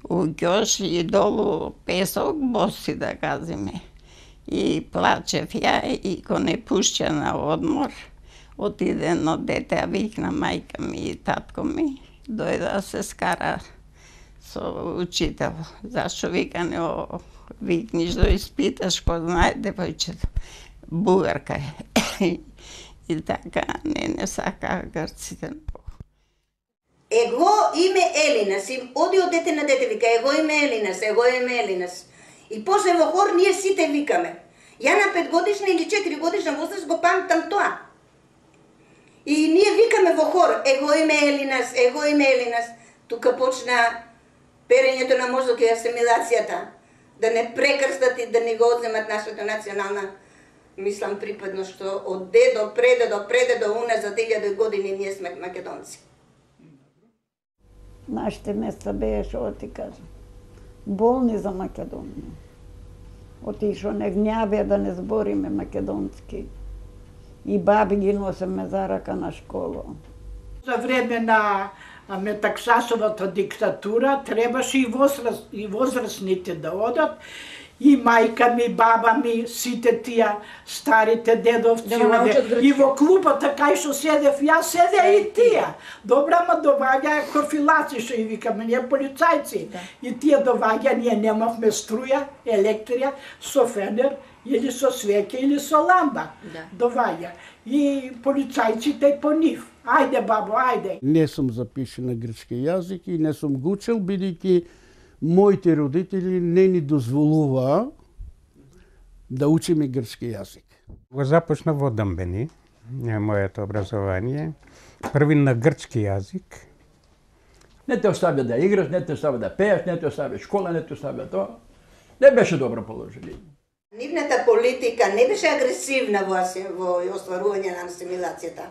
у ќош и долу песок, боси да казиме. И плачев ја и ко не пушќа на одмор, отиде едно дете, а викна мајка ми и татко ми, дојде да се скара со учител. Зашо вика не о, викниш да испиташ, ко знае девојчето. Бугарка е. И така, не, не сака грците. Его име Елинас, им оди од дете на дете, вика, его име Елинас, его име Елинас. И после во хор ние сите викаме. Ја на петгодишна или четири годишна возраст го памтам тоа. И ние викаме во хор, его име Елинас, его име Елинас. Тука почна перењето на мозок и асимилацијата. Да не прекрстат и да не го одземат нашата национална, мислам, припадност, што од дедо, предедо, предедо, уназад илјади години ние сме македонци. Нашите места беа, што ти кажам, болни за Македонија. Отишо не гњаве да не збориме македонски. И баби ги носеме за рака на школа. За време на Метаксасовата диктатура требаше и, возраст, и возрастните да одат. И мајка ми, баба ми, сите тие старите дедовци да оде. И во клупата кај што седев, јас седеа и тие. Добра, ма доваѓаа корфилаци, што и викаме, ние полицајци. Да. И тие доваѓа, ние немавме струја, електрија, со фенер, или со свеќе, или со ламба. Да. Доваѓа. И полицајците по нив. Ајде, бабо, ајде. Не сум запишен на грчки јазик и не сум го учел, бидејќи моите родители не ни дозволуваа да учиме грчки јазик. Го започна во Дамбени, моето образование, први на грчки јазик. Не те оставя да играш, не те оставя да пееш, не те оставя школа, не те оставя тоа. Не беше добро положение. Нивната политика не беше агресивна во, во остварување на асимилацијата.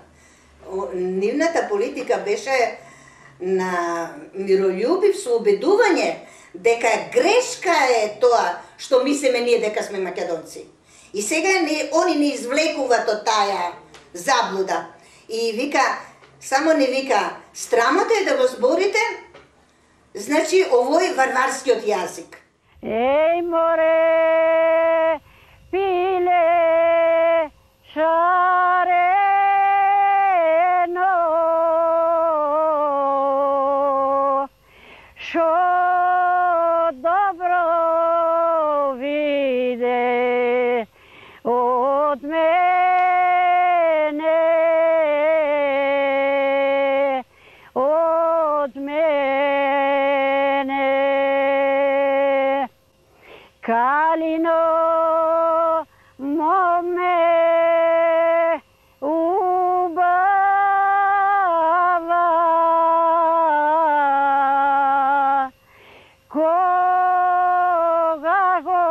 Нивната политика беше на мирољубив со убедување дека грешка е тоа што мислиме ние дека сме македонци. И сега не, они не извлекуваат од таа заблуда. И вика, само не вика, страмота е да го зборите, значи овој варварскиот јазик. Еј море, пиле, шарено, шо добро виде од мене, од мене. Калино моме убава, кога го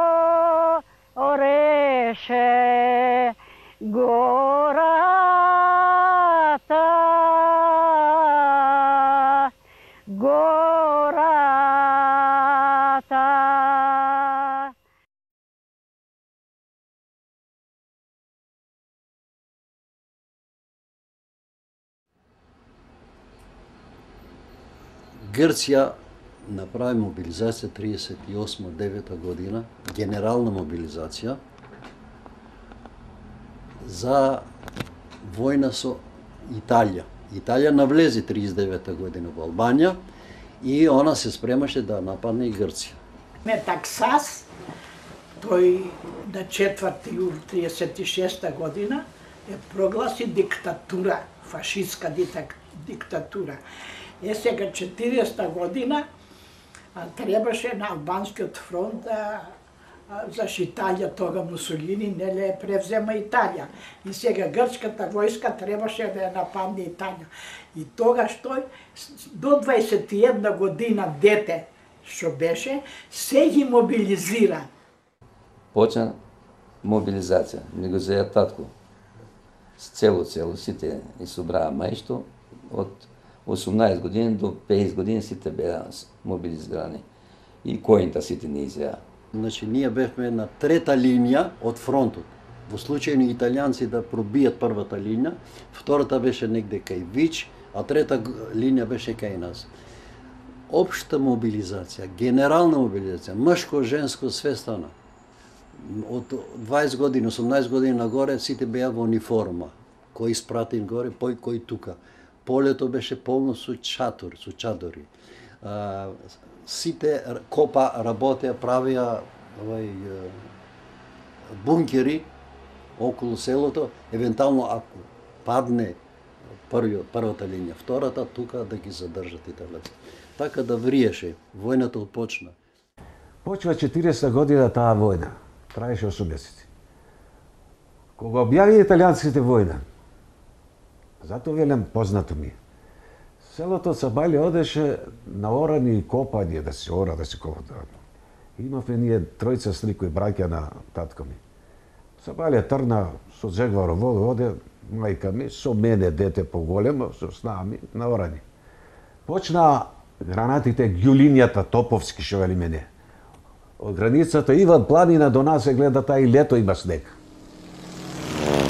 ореше гората, гората. Грција направи мобилизација триесет и осма девета година, генерална мобилизација за војна со Италија. Италија навлезе триесет и девета година во Албанија и она се спремаше да нападне и Грција. Метаксас, тој на четврти јули триесет и шеста година е прогласи диктатура, фашистска диктатура. Е сега четириесета година а, требаше на албанскиот фронт да зашто Италија тога Мусолини неле превзема Италија. И сега грчката војска требаше да ја нападне Италија. И тогаш тој до дваесет и една година дете што беше, се ги мобилизира. Почна мобилизација. Ми го зеја татко. Цело, цело, сите и собраа мајшто од осумнаесет години до петдесет години сите беа мобилизирани. и којнта сите не изеа. Значи, ние бевме на трета линија од фронтот. Во случај на италијанци да пробијат првата линија, втората беше негде кај Вич, а трета линија беше кај нас. Општа мобилизација, генерална мобилизација, мшко, женско, све стана. Од дваесет години, осумнаесет години нагоре сите беа во униформа. Кој испратен горе, пој кој тука. Полето беше полно со чатор, со чадори. А, сите копа работеа, правеа овај бункери околу селото, евентуално ако падне првиот, првата линија, втората тука да ги задржат италијанци. Така да вриеше, војната отпочна. Почва четиридесета година таа војна, траеше осум месеци. Кога објави италијанците војна, затоа велам познато ми. Селото Сабали одеше на орани и копање, да се ора, да се копа. Имавме ние тројца сликои браќа на татко ми. Сабали трна со Жегваро воду, оде мајка ми, со мене дете поголемо, со снами, на орани. Почна гранатите, ѓулињата, топовски, шо вели мене. Од границата Иван планина до нас се гледа тај лето има снег.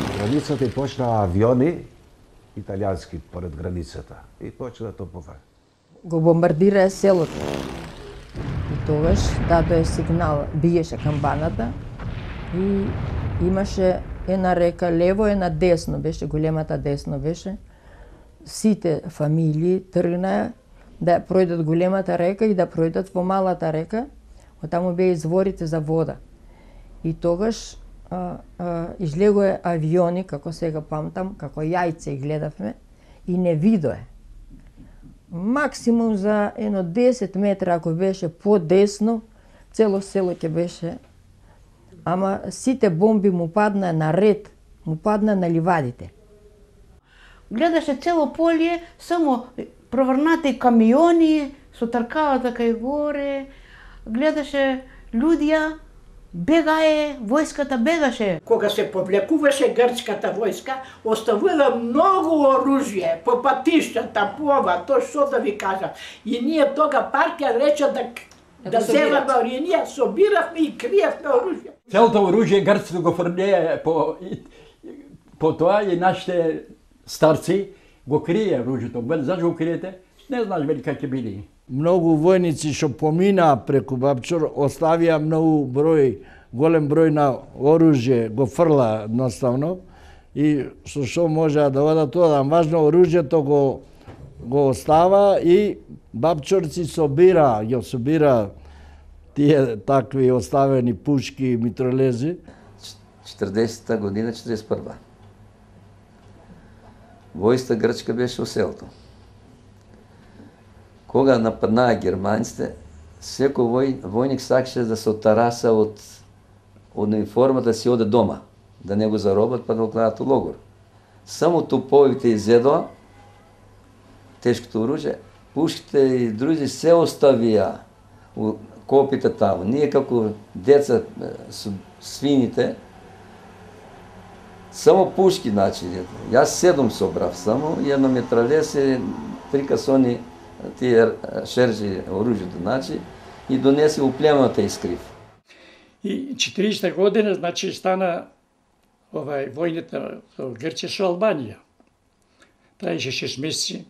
Од границата и почна авиони, италијански поред границата. И почна топове. Го бомбардира селото. И тогаш дадоe сигнал, биеше камбаната и имаше една река лево, една десно, беше големата десно беше. Сите фамилии тргнаа да пројдат големата река и да пројдат во малата река, оттаму беа изворите за вода. И тогаш а, а, излегоe авиони, како сега памтам, како јајце и гледавме, и не видое. Максимум за едно десет метра, ако беше по-десно, цело село ќе беше. Ама сите бомби му падна на ред, му падна на ливадите. Гледаше цело поле, само проврнати камиони со тркалата кај горе, гледаше луѓе, бегае, војската бегаше. Кога се повлекуваше грчката војска, оставила многу оружје по патиштата, по ова, тоа што да ви кажам. И ние тога партија рече да да земаме оружје, ние собиравме и криевме оружје. Целото оружје грците го фрлеа по по тоа и нашите старци го крие оружјето. Вели, зашто го криете? Не знаеш вели како били. Многу војници што поминаа преку Бабчор оставија многу број, голем број на оружје, го фрла едноставно и со што можеа да одат тоа, важно оружјето го го остава и Бабчорци собира, ја собира тие такви оставени пушки, митролези. четиридесета година, четиридесет и прва. Војста грчка беше во селото. Кога нападнаа германците, секој вој, војник сакаше да се отараса од, од униформата да си оде дома, да не го заробат па да го кладат у логор. Само топовите изедоа, тешкото оружје, пушките и други се оставија у копите таму. Ние како деца со свините, само пушки, значи, јас седум собрав само, и едно метралес и три касони тие шержи оружјето, значи, и донесе у племената и скрив. И четиридесета година, значи, стана овај војната со Грција со Албанија. Траеше шест месеци.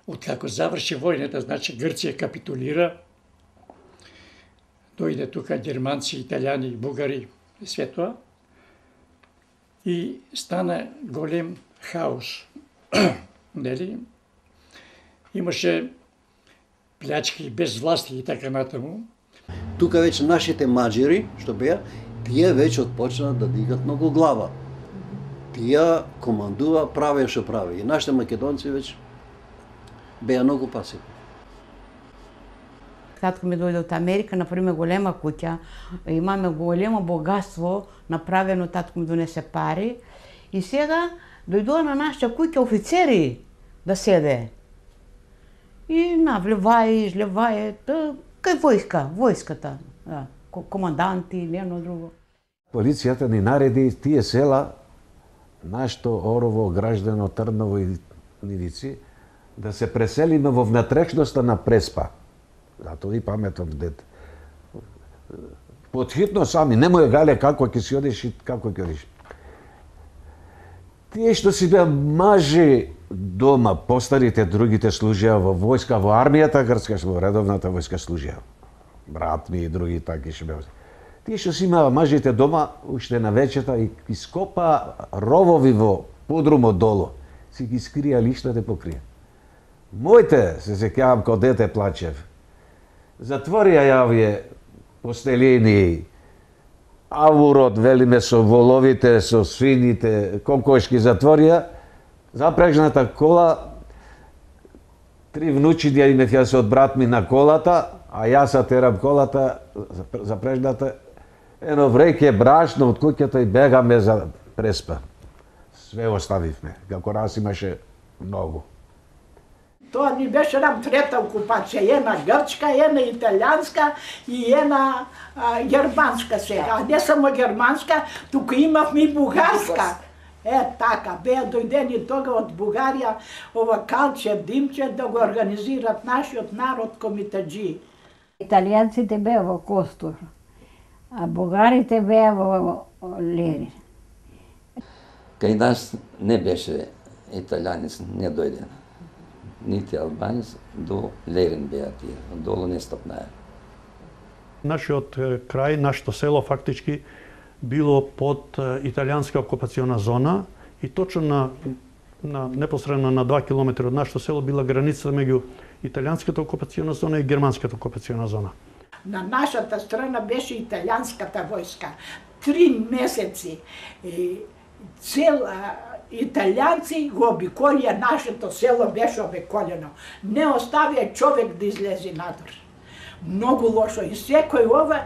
Откако заврши војната, значи Грција капитулира. Дојде тука германци, италијани, бугари и све тоа. И стана голем хаос. Нели? Имаше плячки, безвласти и така натаму. Тука веќе нашите маџери, што беа, тие веќе отпочнаа да дигат многу глава. Тие командува, правеа што прави. И нашите македонци веќе беа многу пасивни. Татко ми дојде од Америка, например, голема куќа, имаме големо богатство, направено, татко ми донесе пари. И сега дојдоа на нашата куќа офицери да седе. И навлевај, излевај, кај војска, војската, да, команданти или едно друго. Полицијата ни нареди тие села, нашто Орово, Граждано, Трново и Нивици, да се преселиме во внатрешноста на Преспа. Затоа и паметен дед. Подхитно сами, немој гале како ќе си одиш и како ќе одиш. Тие што си беа мажи дома, постарите, другите служеа во војска, во армијата грчка, во редовната војска служеа. Брат ми и други таки што беа. Тие што си имаа мажите дома, уште на вечерта и ископа ровови во подрумот долу. Си ги скрија лиштата покрија. Моите, се сеќавам кога дете плачев. Затворија јавие постелини, авурот, велиме, со воловите, со свините, кокошки затворија, запрежната кола, три внучиња имев јас од брат ми на колата, а јас ја терам колата, запрежната, ено вреќе брашно од куќата и бегаме за преспа. Све оставивме, како раз имаше многу. Тоа ни беше нам трета окупација, една грчка, една италијанска и една а, германска сега. А не само германска, туку имавме и бугарска. Е, така, беа дојдени тога од Бугарија, ова Калчев, Димчев, да го организират нашиот народ комитаджи. Италијанците беа во Костур, а бугарите беа во Лери. Кај нас не беше италијанец, не дојде. Нити албанец, до Лерин беа тие, долу не стапнаја. Нашиот крај, нашето село фактички било под италијанска окупациона зона и точно на, на непосредно на два километри од нашето село била границата меѓу италијанската окупациона зона и германската окупациона зона. На нашата страна беше италијанската војска. Три месеци и цел италијанци го обиколија нашето село, беше обиколено. Не оставија човек да излезе надвор. Многу лошо. И секој ова,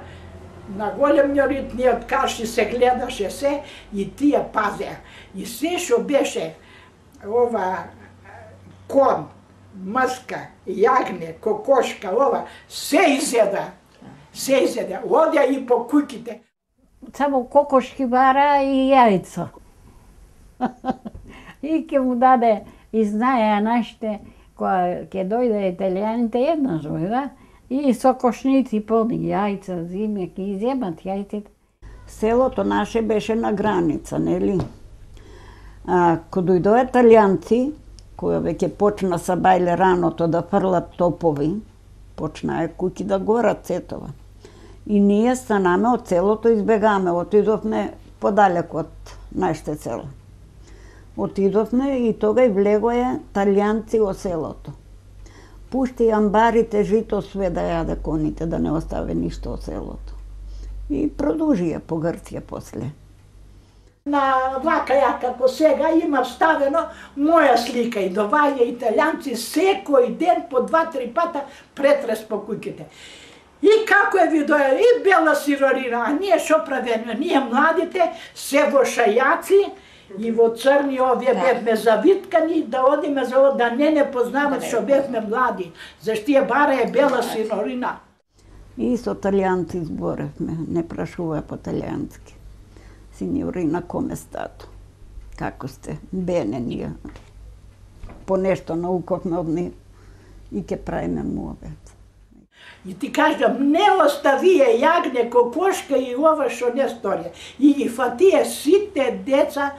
на големиот ниот каши се гледаше се и тие пазеа. И се што беше ова кон, мрска, јагне, кокошка, ова, се изеда. Се изеда. Одја и по куќите. Само кокошки бара и јајца. И ќе му даде, и знаеа нашите, кога ќе дојде италијаните еднаш дојда, и со кошници полни јајца, зиме, ќе иземат јајците. Селото наше беше на граница, нели? А, кога дојдоа италијанци, кои веќе почна са бајле раното да фрлат топови, почнаа куќи да горат сетова. И ние станаме од селото, избегаме, отидовме подалек од нашите село. Отидовме и тога и влегоја италијанци во селото. Пушти амбарите, жито, све да јаде коните, да не оставе ништо од селото. И продужија по Грција после. На вака ја како сега има ставено моја слика и доваѓа италијанци секој ден по два-три пата претрес по куќите. И како е видоја и бела сирорина, а ние шо правиме? Ние младите се во шајаци и во црни овие бевме завиткани да одиме за да не не познават што бевме млади. Заштие бара е бела сирорина. И со италијанци зборевме, не прашува по италијански. Синьорина, коме стато? Како сте? Бене ние. По нешто науковме од нив и ке правиме му обед. И ти кажам, не оставија јагне, кокошка и ова што не сторија. И ги фатија сите деца,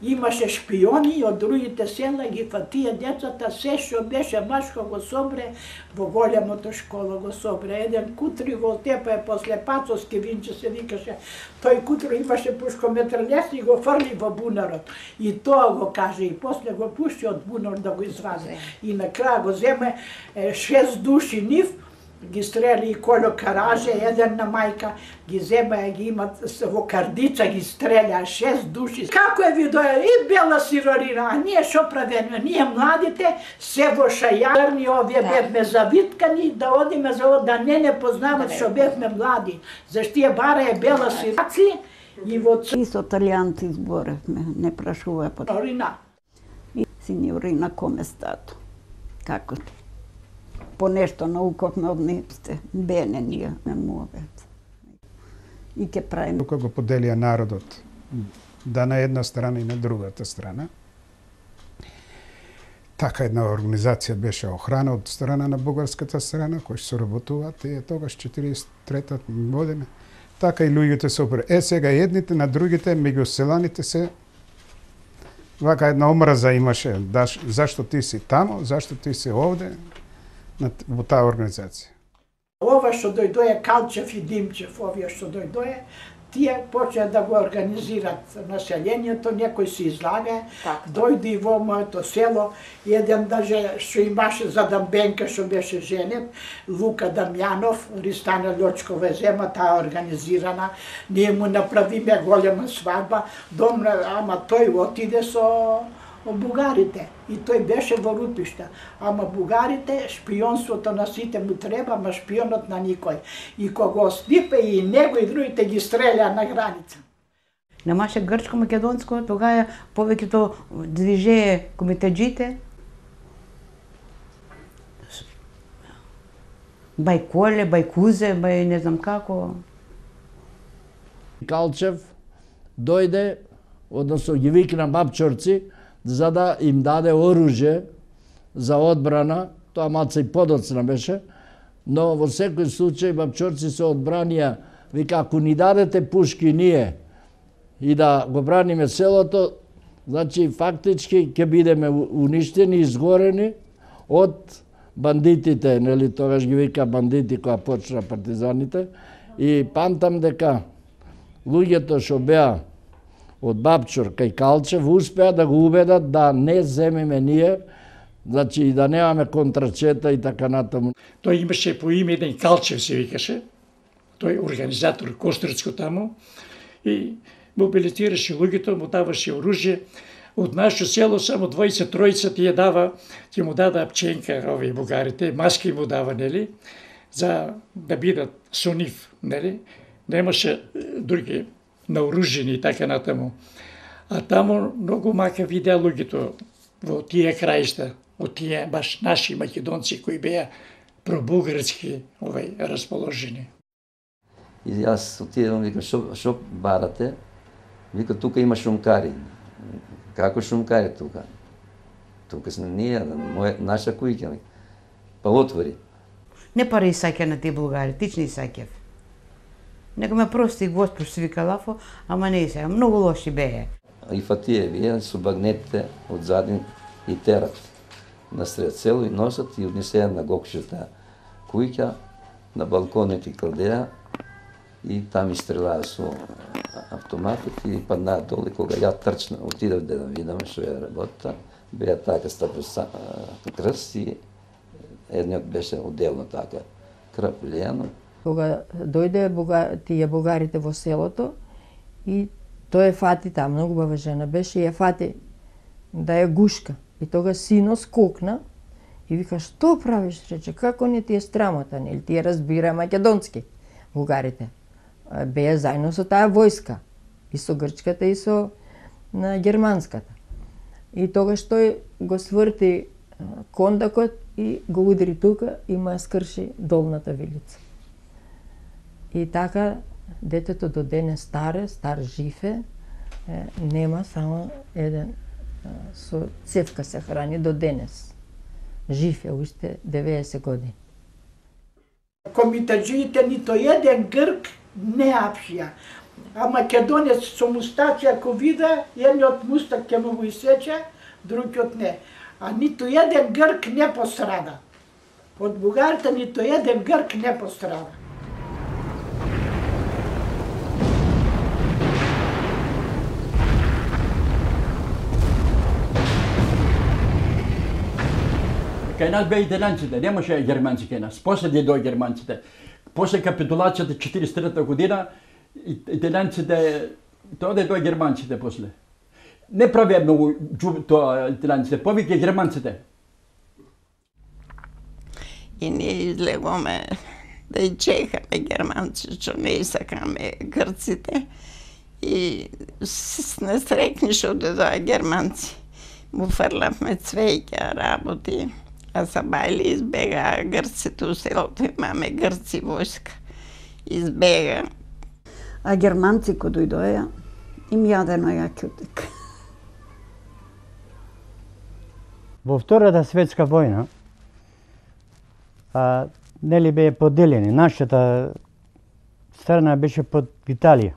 имаше шпиони од другите села, ги фатија децата, се што беше машко го собре, во големото школа го собре. Еден кутри во Тепа е после Пацовски Винче се викаше, тој кутри имаше пушкометрелес и го фрли во бунарот. И тоа го каже, и после го пушти од бунар да го извади. И на крај го земе шест души нив, ги стрели и коло караже, еден на мајка, ги зема, ги имат во кардица, ги стреля шест души. Како е видоја и бела сирорина, а ние шо правиме? Ние младите се во шајарни овие бевме завиткани да одиме за да не не познават што бевме млади. Заштие бара е бела сираци и во И со италијанци зборевме, не прашува по сирорина. Синьорина, коме стато? Како сте? По нешто науковме од нив сте. Бене ние не му обед. И ке правиме. Тука го поделија народот, да на една страна и на другата страна. така една организација беше охрана од страна на бугарската страна, кои се соработуваат и тогаш четириесет и трета година. Така и луѓето се опре. Е, сега едните на другите, меѓу селаните се вака една омраза имаше. Даш, зашто ти си тамо, зашто ти си овде, во таа организација. Ова што дојдоја Калчев и Димчев, овие што дојдоја, тие почеа да го организират населението, некој се излага, дојде и во моето село, еден даже што имаше за Дамбенка, што беше женет, Лука Дамјанов, Ристана Лјочкова зема, таа организирана, ние му направиме голема свадба, домна, ама тој отиде со бугарите и тој беше во Рупишта. Ама бугарите, шпионството на сите му треба, ама шпионот на никој. И кога стипе и него и другите ги стреля на граница. Немаше грчко-македонско, тогава повеќето движење комитеджите. Бај Коле, бај Кузе, бај не знам како. Калчев дојде, односно ги викна бабчорци, за да им даде оружје за одбрана, тоа малце и подоцна беше, но во секој случај бабчорци се одбранија, вика, ако ни дадете пушки ние и да го браниме селото, значи фактички ќе бидеме уништени, изгорени од бандитите, нели тогаш ги вика бандити која почна партизаните, и памтам дека луѓето што беа од Бабчор кај Калчев успеа да го убедат да не земеме ние, значи и да немаме контрачета и така натаму. Тој имаше по име еден Калчев се викаше, тој организатор Костурцко таму, и мобилизираше луѓето, му даваше оружје. Од нашето село само дваесет тројца тие дава, ќе му дада пченка, овие бугарите, маски му дава, нели, за да бидат со нив, нели. Немаше други наоружени и така натаму. А таму многу мака видеа луѓето во тие краишта, од тие баш наши македонци кои беа пробугарски овај расположени. И јас отидам, викам, шо, шо барате? Вика, тука има шумкари. Како шумкари тука? Тука сме ние, моја, наша кујка. Па отвори. Не пари саќа на тие булгари, тични саќев. Нека ме прости Господ што вика Лафо, ама не се, многу лоши беа. И фатие вие со багнетите од задин и терат на сред село и носат и однесеа на гокшата кујка, на балконите кладеа и там истрелаа со автоматот и паднаа долу. Кога ја трчна, отидов да видам што е работа, беа така стапа крст и едниот беше отделно така крв лијано. Кога дојде буга, тие бугарите во селото и тој е фати таа многу бава жена беше и е фати да е гушка. И тога сино скокна и вика, што правиш, рече, како не ти е страмота, нели тие разбира македонски бугарите. Беа заедно со таа војска, и со грчката и со на германската. И тогаш тој го сврти кондакот и го удари тука и ма скрши долната вилица. И така детето до денес старе, стар жив е, нема само еден со цевка се храни до денес. Жив е уште деветдесет години. Комитаджиите нито еден грк не апшија. А македонец со мустаци ако вида, едниот мустак ќе му го исече, другиот не. А нито еден грк не пострада. Од бугарите нито еден грк не пострада. Кај нас беа италијанците, немаше германци кај нас. После дојдоа германците. После капитулацијата четириесет и трета година, италијанците, тоа дојдоа германците после. Не правеа многу тоа италијанците, повеќе германците. И ние излегоме да и чекаме германци, што не сакаме грците. И не срекни што дојдоа германци. Му фрлавме цвеќа, работи. А са бајли избега грците у селото, имаме грци војска. Избега. А германци кои дојдоја, им јадено јакјутек. Во Втората светска војна, а, нели бе поделени. Нашата страна беше под Италија.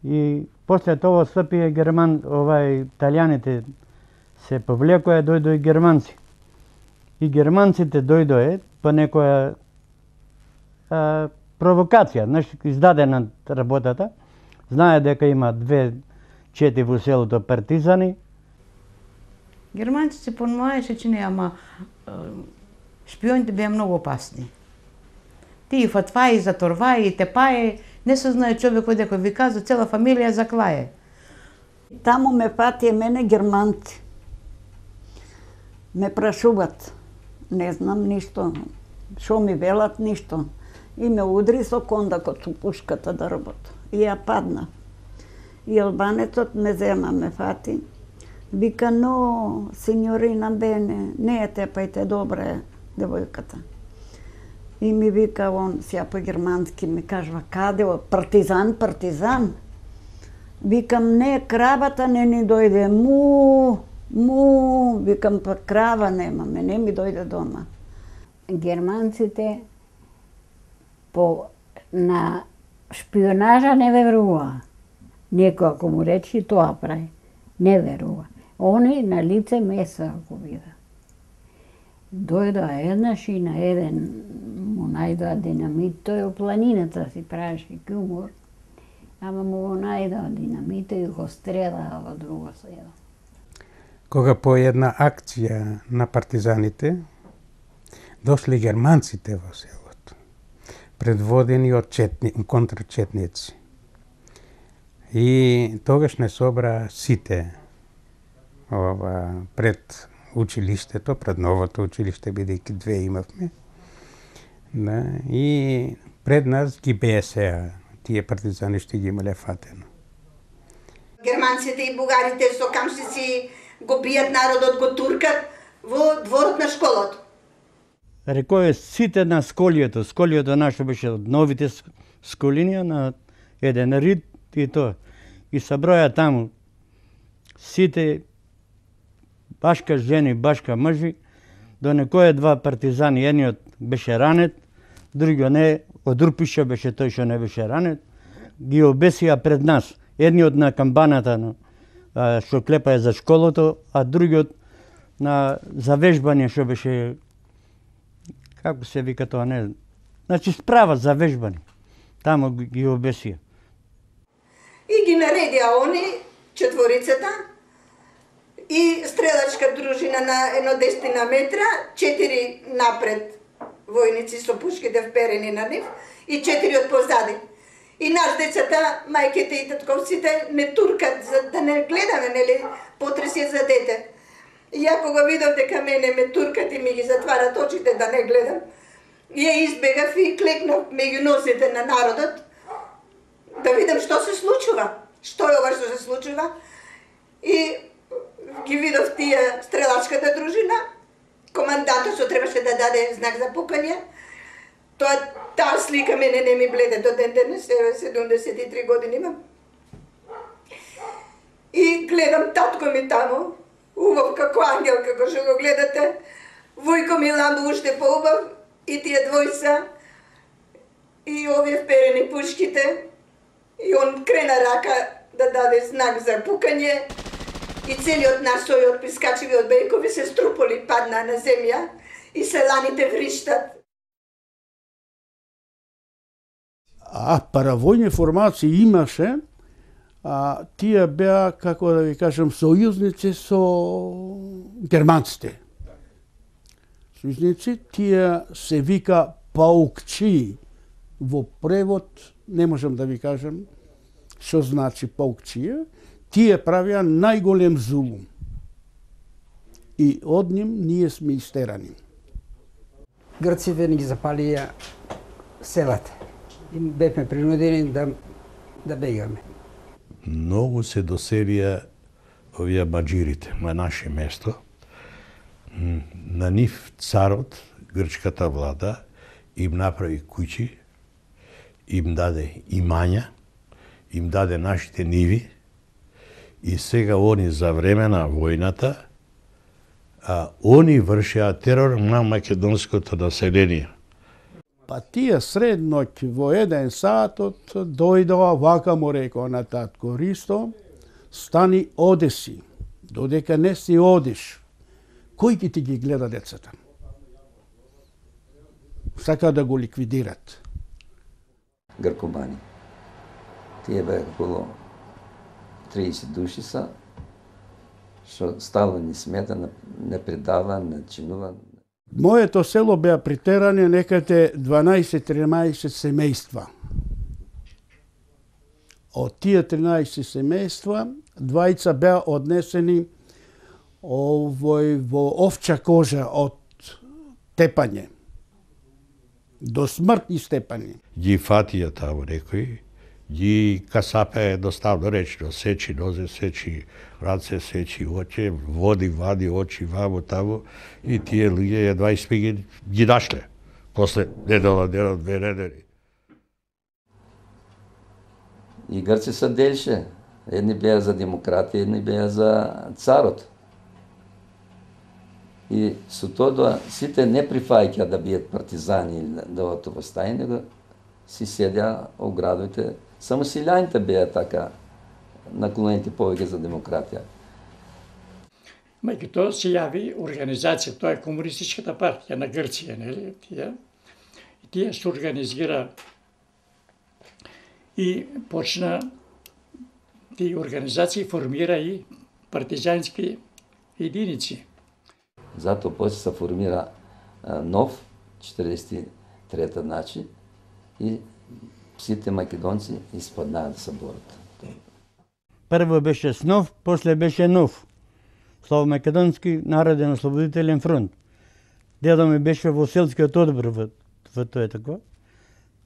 И после тоа стапија герман, овај италијаните се повлекоа, дојдоа и германци. И германците дојдоа по некоја а, провокација, знаеш, издадена работата. Знае дека има две чети во селото партизани. Германците понмаеше, че не, ама шпионите беа многу опасни. Тие фатваи, заторваи, тепаи, не се знае човекот дека ви каза, цела фамилија заклае. Таму ме патија мене германци. Ме прашуват, не знам ништо, шо ми велат ништо. И ме удри со кондакот со пушката да работа. И ја падна. И албанецот ме зема, ме фати. Вика, но, синьорина Бене, не е тепајте, добра е девојката. И ми вика он, сја по-германски, ми кажва, каде, партизан, партизан. Викам, не, кравата не ни дојде, му, му, викам, па крава немаме, не ми дојде дома. Германците по, на шпионажа не верува. Некој ако му речи, тоа прави. Не верува. Они на лице меса ако вида. Дојдоа еднаш и на еден му најдоа динамит, тој во планината си правеше кумор, ама му го најдоа динамит и го стрелаа во друго село. Кога по една акција на партизаните дошли германците во селото, предводени од четни, контрчетници. И тогаш не собра сите ова, пред училиштето, пред новото училиште, бидејќи две имавме. Да, и пред нас ги бесеа, тие партизани што ги имале фатено. Германците и бугарите со камшици го бијат народот, го туркат во дворот на школото. Рекој сите на сколијето, сколијето наше беше од новите сколинија на еден рид и тоа. И съброја таму сите башка жени, башка мъжи, до некоја два партизани, едниот беше ранет, другиот не, од Рупиша беше тој што не беше ранет, ги обесија пред нас. Едниот на камбаната што клепаја за школото, а другиот на завежбање што беше, како се вика тоа, не знам. Значи справа за вежбање. Таму ги обесија. И ги наредија они, четворицата, и стрелачка дружина на едно десетина метра, четири напред војници со пушките вперени на нив и четири од позади. И наш децата, мајките и татковците не туркат за да не гледаме, нели, потреси за дете. И ја кога видов дека мене ме туркат и ми ги затварат очите да не гледам, ја избегав и клекнав меѓу носите на народот да видам што се случува, што е ова што се случува. И ги видов тие стрелачката дружина, командантот што требаше да даде знак за пукање. Тоа, таа слика мене не ми бледе до ден денес, седумдесет и три години имам. И гледам татко ми таму, убав како ангел, како што го гледате. Војко ми ламбо уште поубав и тие двојца и овие вперени пушките. И он крена рака да даде знак за пукање. И целиот наш сој од прискачиви од бејкови се струполи, падна на земја и селаните вриштат. А паравојни формации имаше, а тие беа, како да ви кажам, сојузници со германците. Сојузници, тие се вика паукчи. Во превод не можам да ви кажам што значи паукчија. Тие правеа најголем зулум. И од ним ние сме истерани. Грците ни ги запалија селата. И бевме принудени да, да бегаме. Многу се доселија овие маџирите на наше место. На нив царот, грчката влада, им направи куќи, им даде имања, им даде нашите ниви и сега они за време на војната а, они вршеа терор на македонското население. Па тие средноќ во еден сатот дојдоа, вака му рекоа на татко Ристо, стани одеси, додека не си одиш, кој ќе ти ги гледа децата? Сака да го ликвидират. Гркомани. Тие беа околу триесет души са, што стално ни смета, не предава, не чинува. Моето село беа притерани некаде дванаесет-тринаесет семејства. Од тие тринаесет семејства, двајца беа однесени овој во овча кожа од тепање. До смртни степени. Ги фатија таму некои, ги касапе доставно речно, сечи нозе, сечи раце, сечи очи, води, вади очи ваму таму и тие луѓе едва и ги, ги нашле. После недела, недела, две недели. И грци се делше. Едни беа за демократија, едни беа за царот. И со тоа сите не прифаќа да бият партизани или да одат во стаи, него си седеа во градовите. Само силјаните беа така наклонети повеќе за демократија. Меѓу тоа се јави организација, тоа е Комунистичката партија на Грција, нели? Тие, и тие се организира и почна тие организации формира и партизански единици. Затоа после се формира нов, четиридесет и трета значи, и сите македонци испаднаа да се борат. Прво беше СНОВ, после беше НОВ. Славомакедонски народен ослободителен фронт. Дедо ми беше во селскиот одбор во, во тоа тако.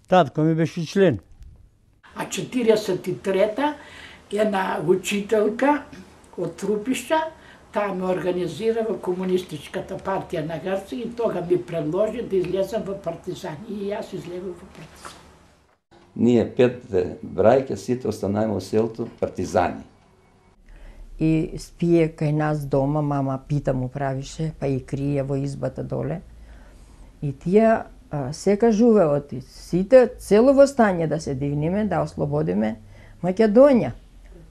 Татко ми беше член. А четириесет и трета една учителка од Трупишта, таа ме организира во Комунистичката партија на Грција и тога ми предложи да излезам во партизани. И јас излегов во партизани. Ние пет брајка сите останаеме во селото партизани. И спие кај нас дома, мама пита му правише, па и крие во избата доле. И тие а, се кажуваат, сите цело востање да се дигнеме, да ослободиме Македонија.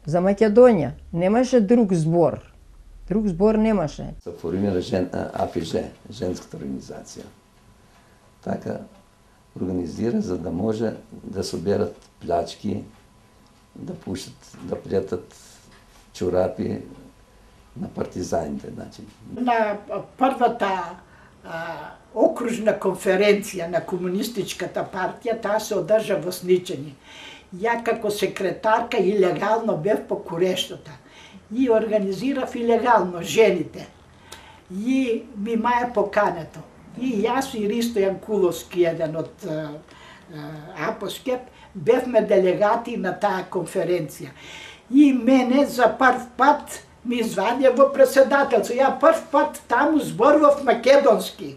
За Македонија немаше друг збор. Друг збор немаше. Се формира жен, АФЖ, женската организација. Така организира за да може да соберат плячки, да пушат, да плетат чорапи на партизаните. Значи. На првата а, окружна конференција на Комунистичката партија, таа се одржа во Сничани. Ја како секретарка илегално бев по Курештата и организирав илегално жените. И ми маја покането. И јас и Ристо Јанкуловски, еден од Апоскеп, бевме делегати на таа конференција. И мене за прв пат ми звање во председателство. Ја прв пат таму зборував македонски.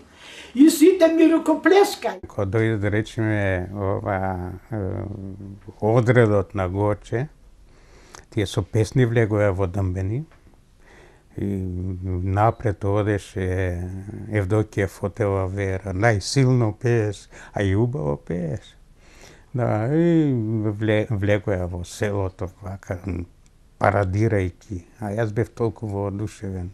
И сите ми рукоплескај. Кога дојде да речеме ова одредот на Гоче, тие со песни влегоа во Дъмбени. И напред одеше Евдокија Фотева Вера, најсилно пееш, а и убаво пееш. Да, и влегоа во селото, вака, парадирајки, а јас бев толку воодушевен.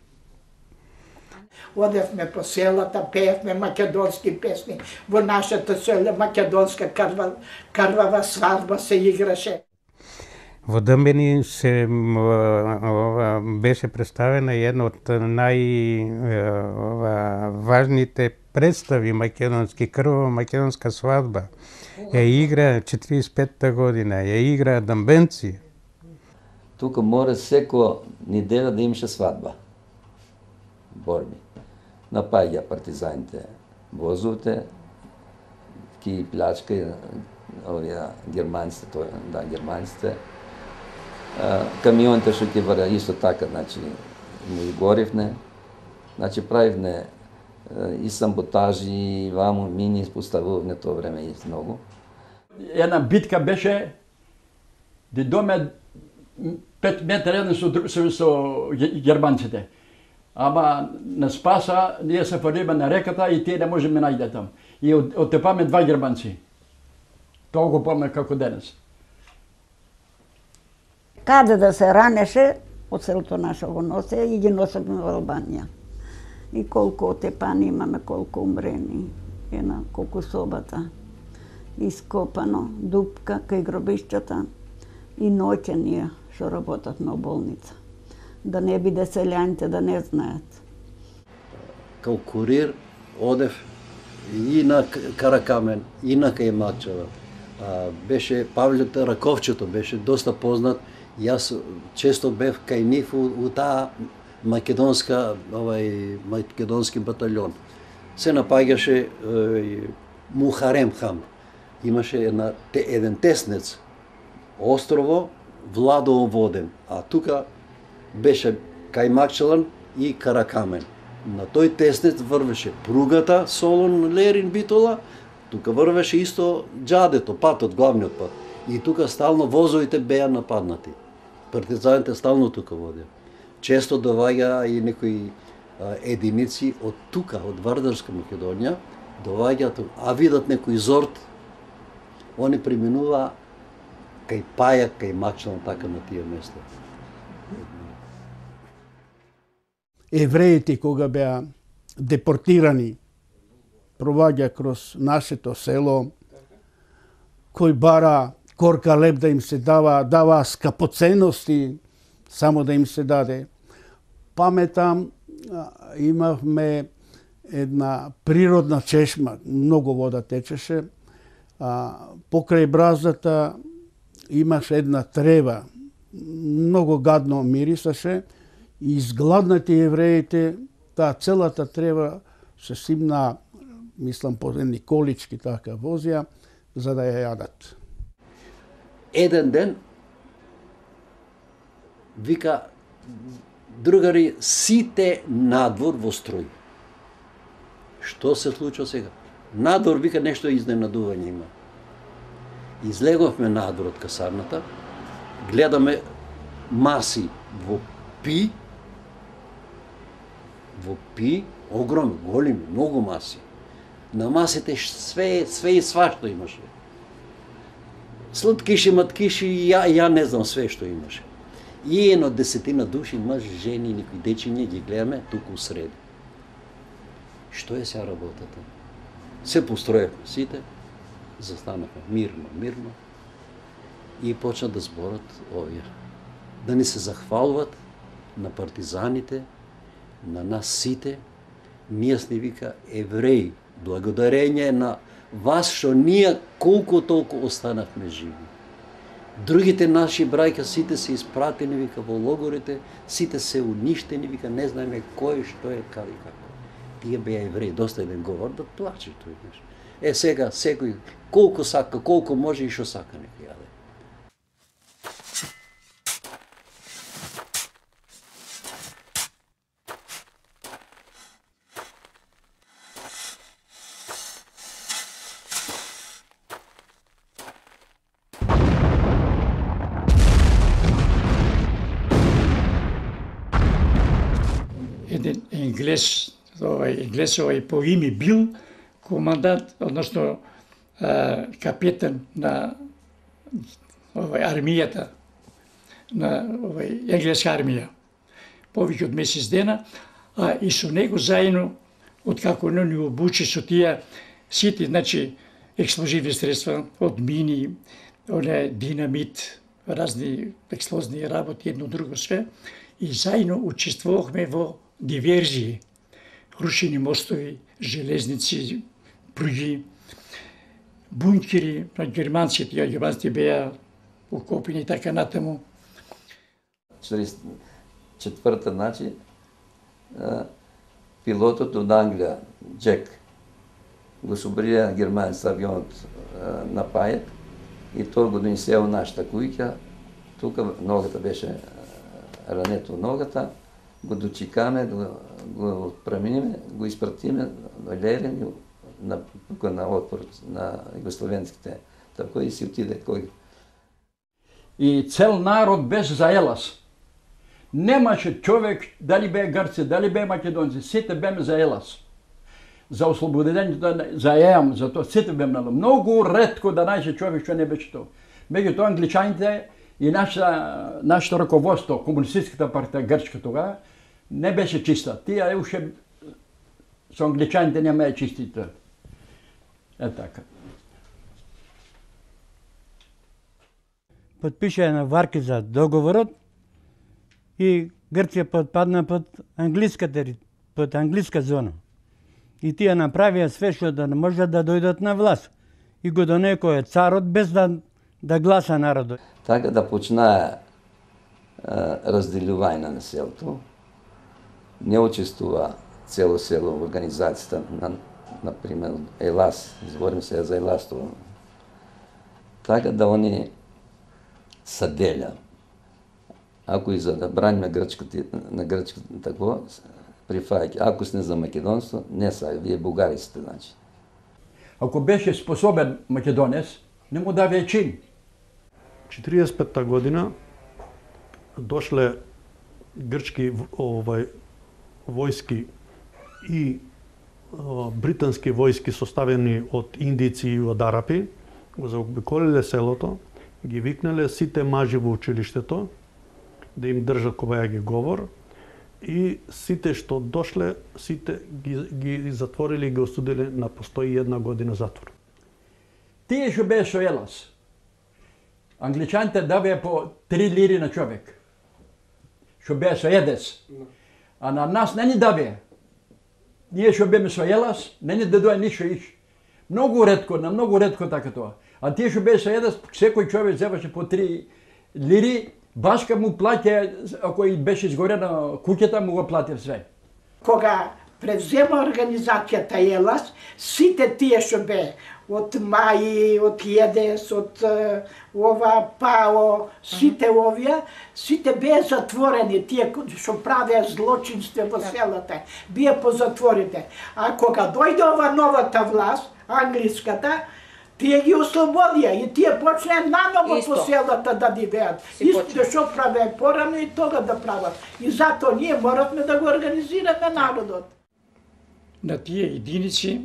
Одевме по селата, пеевме македонски песни. Во нашата село македонска карва, карвава свадба се играше. Во Дъмбени се ова, беше представена една од најважните представи македонски, крвава македонска свадба. Ја игра четириесет и петта година, ја игра дъмбенци. Тука мора секоја неделя да имаше свадба. Борби. Напаѓа партизаните возовите, ки плячка овие германците, тоа, да, германците. Камионите што ќе вара исто така, значи, му и горивне. Значи, правивне и самботажи, и ваму, мини поставувавме тоа време и многу. Една битка беше да доме пет метра еден со, со, со германците. Ама на Спаса ние се фрлиме на реката и тие не можеме најде там. И оттепаме два германци. Тоа го помня како денес. Каде да се ранеше, од селото наше го носе и ги носеме во Албанија. И колку отепани имаме, колку умрени. Ена, колку собата. Ископано, дупка кај гробишчата и ноќенија што работат на болница. Да не биде селјаните да не знаат. Као курир одев и на Каракамен, и на кај Макчева. А, беше Павле Раковчето, беше доста познат. Јас често бев кај нив у, у таа македонска, овај македонски батальон. Се напаѓаше е, Мухарем хам. Имаше една, те, еден теснец, острово, Владово воден, а тука беше кај Макчелан и Каракамен. На тој теснец врвеше пругата Солон Лерин Битола, тука врвеше исто џадето, патот, главниот пат. И тука стално возовите беа нападнати. Партизаните стално тука водеа. Често доваѓа и некои а, единици од тука, од Вардарска Македонија, доваѓаат, а видат некој зорт, они преминува кај Пајак, кај Макчелан, така на тие места. Евреите кога беа депортирани, проваѓа кроз нашето село, кој бара корка леб да им се дава, дава скапоценности, само да им се даде. Паметам, имавме една природна чешма, многу вода течеше, а, покрај браздата имаше една трева, многу гадно мирисаше, и изгладнати евреите, таа целата трева се симна, мислам, по едни колички така возија, за да ја јадат. Еден ден, вика, другари, сите надвор во строј. Што се случува сега? Надвор, вика, нешто изненадување има. Излеговме надвор од касарната, гледаме маси во пи, во пи, огромни, големи, многу маси. На масите све, све и свашто имаше. Сладкиши, маткиши, ја, ја не знам све што имаше. И едно десетина души, мъж, жени, никои дечиња, ги гледаме туку среди. Што е сега работата? Се построевме сите, застанахме мирно, мирно и почна да зборат овие. Да ни се захвалуват на партизаните, на нас сите. Ние сни вика евреи, благодарење на вас што ние колку толку останавме живи. Другите наши браќа сите се испратени вика во логорите, сите се уништени, вика не знаеме кој што е каде и како. Тие беа евреи, доста еден говор да плаче тој неш. Е сега секој колку сака, колку може и што сака нека јаде. Еден енглез, овај енглез овај по име Бил, командант, односно а, капетан на овај армијата, на овај енглеска армија, повеќе од месец дена, а и со него заедно, откако не ни обучи со тие сите, значи, експлозивни средства, од мини, оне динамит, разни експлозивни работи, едно друго све, и заедно учествувавме во диверзии, рушени мостови, железници, пруги, бункери на германците, а германците беа окопени и така натаму. четиридесет и четврта, значи, пилотот од Англија, Джек, го собрија германец авионот на Пајак и тој го донесе во нашата куќа, тука ногата беше рането ногата, го дочекаме, го, го отпреминиме, го испратиме во Лерин, на, тука на отпор на југословенските, така и си отиде кој. И цел народ беше за Елас. Немаше човек, дали бе грци, дали бе македонци, сите беме за Елас. За ослободењето, за ЕАМ, за тоа сите беме на многу ретко да најде човек што не беше тоа. Меѓутоа англичаните и нашата нашето раководство, комунистичката партија грчка тога, не беше чиста. Тие уште со англичаните нема е чистите. Е така. Подпиша на варки за договорот и Грција подпадна под англиска тери, под англиска зона. И тие направија све што да не можат да дојдат на власт. И го донекоја царот без да да гласа народот. Така да почнаа разделување на селото. Не учествува цело село в организацијата на, например, Елас, зборим се за Елас тоа. Така да они се деля. Ако и за да браниме грчката, на грчката тако, прифаќа. Ако сте за македонство, не са, вие бугари сте, значи. Ако беше способен македонец, не му даве чин. четиридесет и петта година дошле грчки овај војски и о, британски војски составени од индици и од арапи, го заобиколиле селото, ги викнале сите мажи во училиштето да им држат кога ги говор и сите што дошле, сите ги, ги затворили и ги осудили на постои една година затвор. Тие што бе со Елас, англичаните давеа по три лири на човек, што бе со Едес, а на нас не ни давеа. Ние што беме со Елас, не ни дадоа ништо иш. Многу ретко, на многу ретко така тоа. А тие што бе со Едес, секој човек земаше по три лири, башка му плаќа, ако и беше изгорена куќата, му го плати све. Кога превзема организацијата Елас, сите тие што бе, од Маи, од Једес, од ова ПАО, сите овие, сите беа затворени, тие што правеа злочинство во селата, беа по затворите. А кога дојде ова новата власт, англиската, тие ги ослободија и тие почнеа наново по селата да дивеат. Исто што правеа порано и тога да прават. И затоа ние моравме да го организираме народот. На тие единици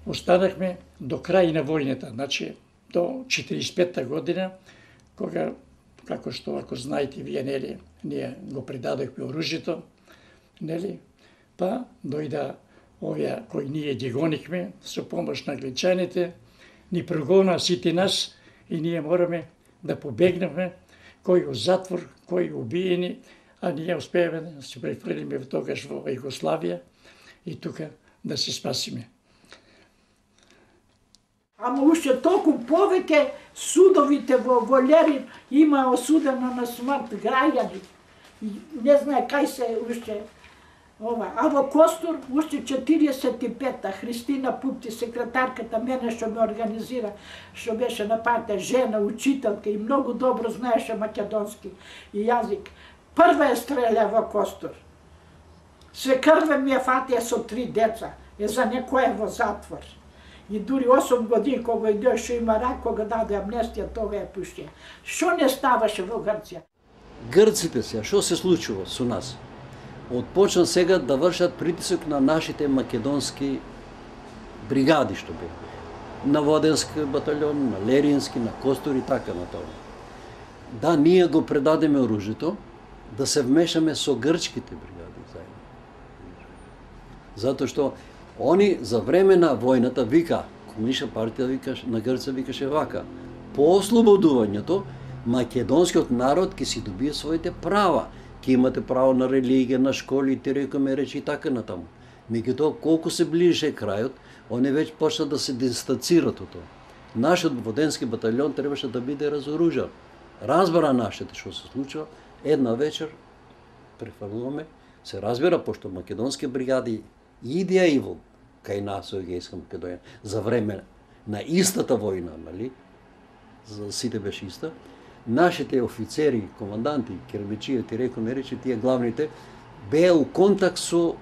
останахме до крај на војната, значи до четиридесет и петта година, кога, како што ако знаете вие, нели, ние го предадохме оружјето, нели, па дојда овие кои ние ги гонихме со помош на англичаните, ни прогона сите нас и ние мораме да побегнеме, кои во затвор, кои убиени, а ние успееме да се префрлиме во тогаш во Југославија и тука да се спасиме. Ама уште толку повеќе судовите во Волерин има осудено на смрт граѓани. Не знае кај се уште ова. А во Костур уште четиридесет и петта Христина Пупти, секретарката мене што ме организира, што беше на партија, жена, учителка и многу добро знаеше македонски и јазик. Прва е стреля во Костур. Се крве ми ја фатија со три деца, е за некој во затвор. И дури осум години кога иде што има рак, кога даде амнестија, тога е пуштија. Што не ставаше во Грција? Грците се, што се случува со нас? Отпочна сега да вршат притисок на нашите македонски бригади што бе. На Воденски батальон, на Лерински, на Костур и така на тоа. Да, ние го предадеме оружјето, да се вмешаме со грчките бригади заедно. Затоа што они за време на војната вика, комунистичка партија вика, на Грција викаше вака, по ослободувањето македонскиот народ ќе си добие своите права, ќе имате право на религија, на школи, ти рекоме речи и така натаму. Меѓутоа, колку се ближеше крајот, они веќе почна да се дистанцират од тоа. Нашиот воденски батальон требаше да биде разоружен. Разбара нашите што се случува, една вечер префрлуваме, се разбира, пошто македонски бригади идеја и во кај нас во Егејска Македонија, за време на истата војна, нали? За сите беше иста. Нашите офицери, команданти, кермичијата, рекоме речи, тие главните, беа у контакт со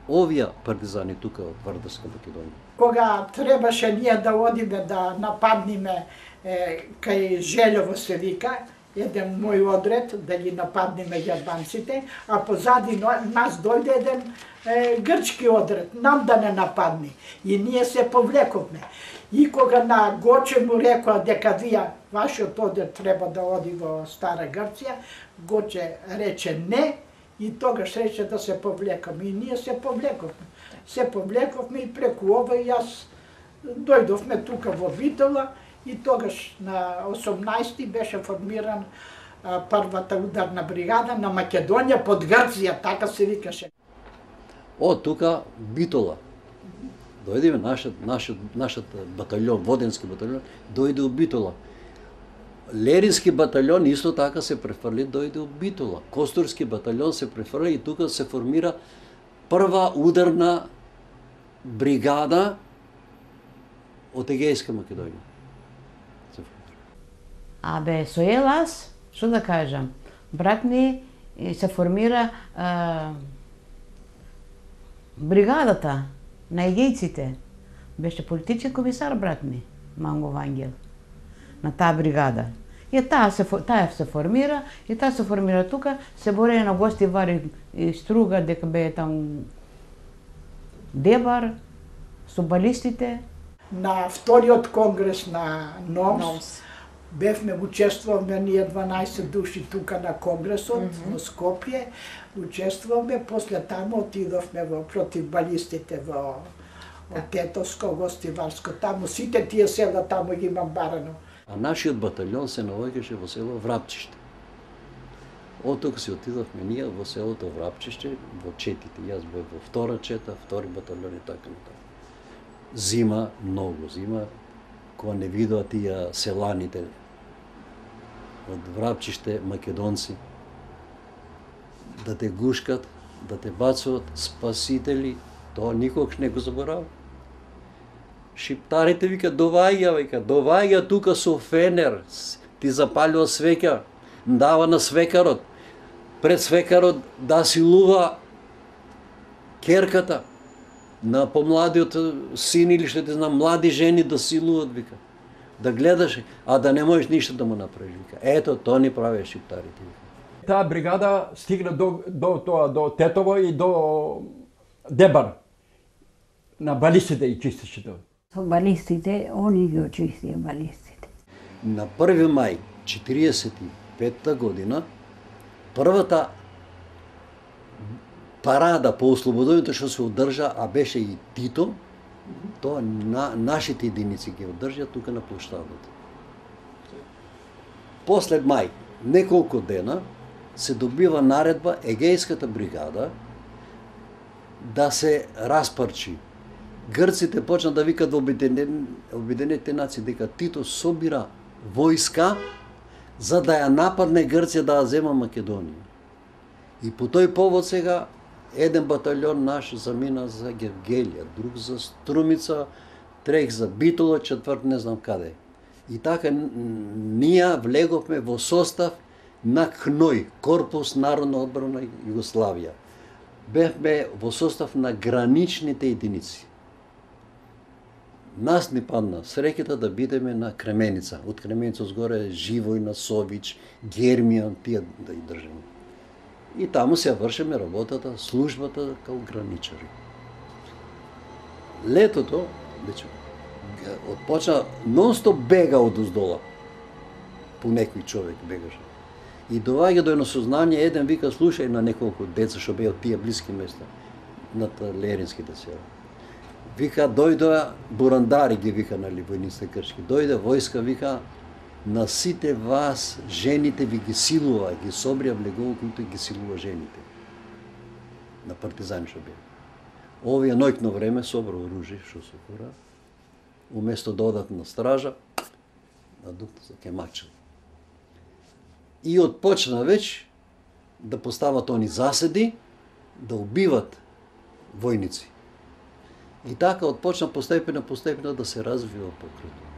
овие партизани тука од Вардарска Македонија. Кога требаше ние да одиме да нападниме е, кај Желево се вика, еден мој одред да ги нападнеме германците, а позади нас дојде еден е, грчки одред, нам да не нападни. И ние се повлековме. И кога на Гоче му рекоа дека вие, вашиот одред треба да оди во Стара Грција, Гоче рече не, и тогаш рече да се повлекаме. И ние се повлековме. Се повлековме и преку ова и јас дојдовме тука во Битола, и тогаш на осумнаесети беше формиран а, првата ударна бригада на Македонија под Грција, така се викаше. О, тука Битола. Дојде нашиот нашиот нашиот батальон, воденски батальон, дојде у Битола. Лерински батальон исто така се префрли, дојде у Битола. Костурски батальон се префрли и тука се формира прва ударна бригада од Егејска Македонија. Абе, со Елас, што да кажам, брат ми се формира а, бригадата на егејците. Беше политички комисар, брат ми, Манго Вангел, на таа бригада. И таа се, таа се формира, и таа се формира тука, се бореја на гости Вари и Струга, дека бе там Дебар, со балистите. На вториот конгрес на НОМС, бевме, учествуваме ние дванаесет души тука на конгресот mm -hmm. во Скопје, учествуваме, после таму отидовме во против балистите во Тетовско, Гостиварско, таму сите тие села таму ги имам барано. А нашиот батальон се наоѓаше во село Врапчиште. Од тука се отидовме ние во селото Врапчиште, во четите. Јас бев во втора чета, втори батальон и така натаму. Зима, многу зима, кога не видоа тие селаните од Врапчиште, македонци, да те гушкат, да те бацуват спасители, тоа никогаш не го заборава. Шиптарите вика, доваѓа, вика, доваѓа тука со фенер, ти запалува свеќа, дава на свекарот, пред свекарот да силува керката, на помладиот син или што те знам, млади жени да силуват, вика, да гледаш, а да не можеш ништо да му направиш, вика. Ето, тоа ни правеа шиптарите, вика. Таа бригада стигна до, до, до, до Тетово и до Дебар. На балистите и чистеше тоа. Со балистите, они ги очистија балистите. На први мај четиридесет и петта година, првата парада по ослободувањето што се одржа, а беше и Тито, тоа на, нашите единици ги одржа тука на площадот. После мај, неколку дена, се добива наредба Егејската бригада да се распарчи. Грците почна да викат во Обединетите нации дека Тито собира војска за да ја нападне Грција да ја зема Македонија. И по тој повод сега еден батальон наш замина за Гевгелија, друг за Струмица, трех за Битола, четврт не знам каде. И така ние влеговме во состав на КНОЙ, Корпус Народна одбрана Југославија. Бевме во состав на граничните единици. Нас ни падна среќата да бидеме на Кременица. Од Кременица згоре Живојна, Сович, Гермијан, тие да ги држиме. И таму се вршиме работата, службата као граничари. Летото, вече, отпочна, нон-стоп бега од уздола. По некој човек бегаше. И доаѓа до едно сознание, еден вика, слушај на неколку деца што беа од тие блиски места, над Леринските села. Вика, дојдоа бурандари, ги вика, нали, војниците кршки. Дојде војска, вика, на сите вас, жените ви ги силува, ги собрија влегово, които ги силува жените. На партизани што беа. Овие ноќно време собра оружје, што се фура, уместо да одат на стража, надукна за кемачил. И отпочна веќе да постават они заседи, да убиват војници. И така отпочна постепено, постепено да се развива покрето.